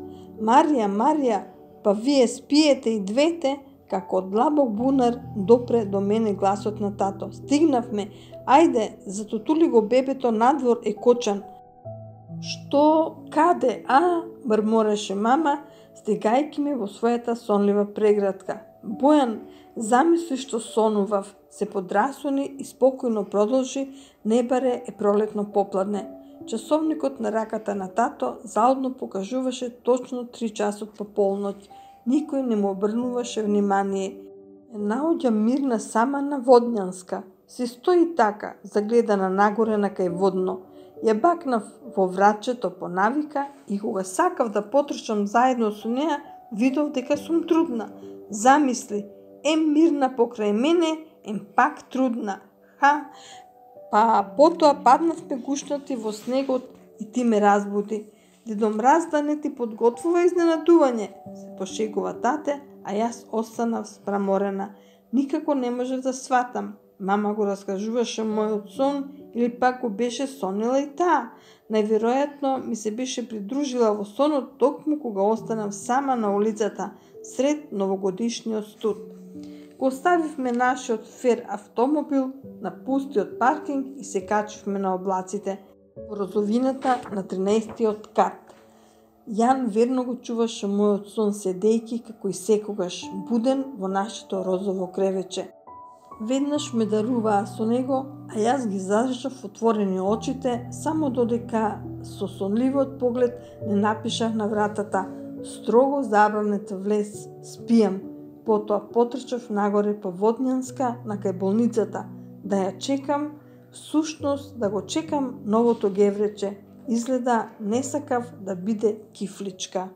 Марија, Марија, па вие спиете и двете, како од длабок бунар допре до мене гласот на тато. Стигнавме, ајде, затотули го бебето надвор е кочан. Што, каде, а? Мрмореше мама, стегајќи ме во својата сонлива преградка. Бојан, замисли што сонував, се подрасуни и спокојно продолжи, не баре е пролетно попладне. Часовникот на раката на тато залудно покажуваше точно три часот по полноќ. Никој не му обрнуваше внимание. Наоѓа мирна сама на Водњанска. Се стои така, загледана нагоре на кај водно. Ја бакнав во вратчето по навика и кога сакав да потрчам заедно со неа, видов дека сум трудна. Замисли, ем мирна покрај мене, ем пак трудна. Ха, па потоа паднавме гушнати во снегот и ти ме разбуди. Дедо Мраз да не ти подготвува изненадување, се пошегува тате, а јас останав спраморена. Никако не можев да сватам. Мама го раскажуваше мојот сон или пак го беше сонила и таа. Најверојатно ми се беше придружила во сонот токму кога останав сама на улицата, сред новогодишниот студ. Го оставивме нашиот фер автомобил на пустиот паркинг и се качивме на облаците во розовината на тринаесеттиот кат. Јан верно го чуваше мојот сон седејки како и секогаш буден во нашето розово кревече. Веднаш ме даруваа со него, а јас ги зажав отворени очите, само додека со сонливиот поглед не напишав на вратата: строго забранете влез, спијам. Потоа потрчав нагоре по Водњанска на кај болницата, да ја чекам, всушност да го чекам новото геврече. Изгледа не сакав да биде кифличка.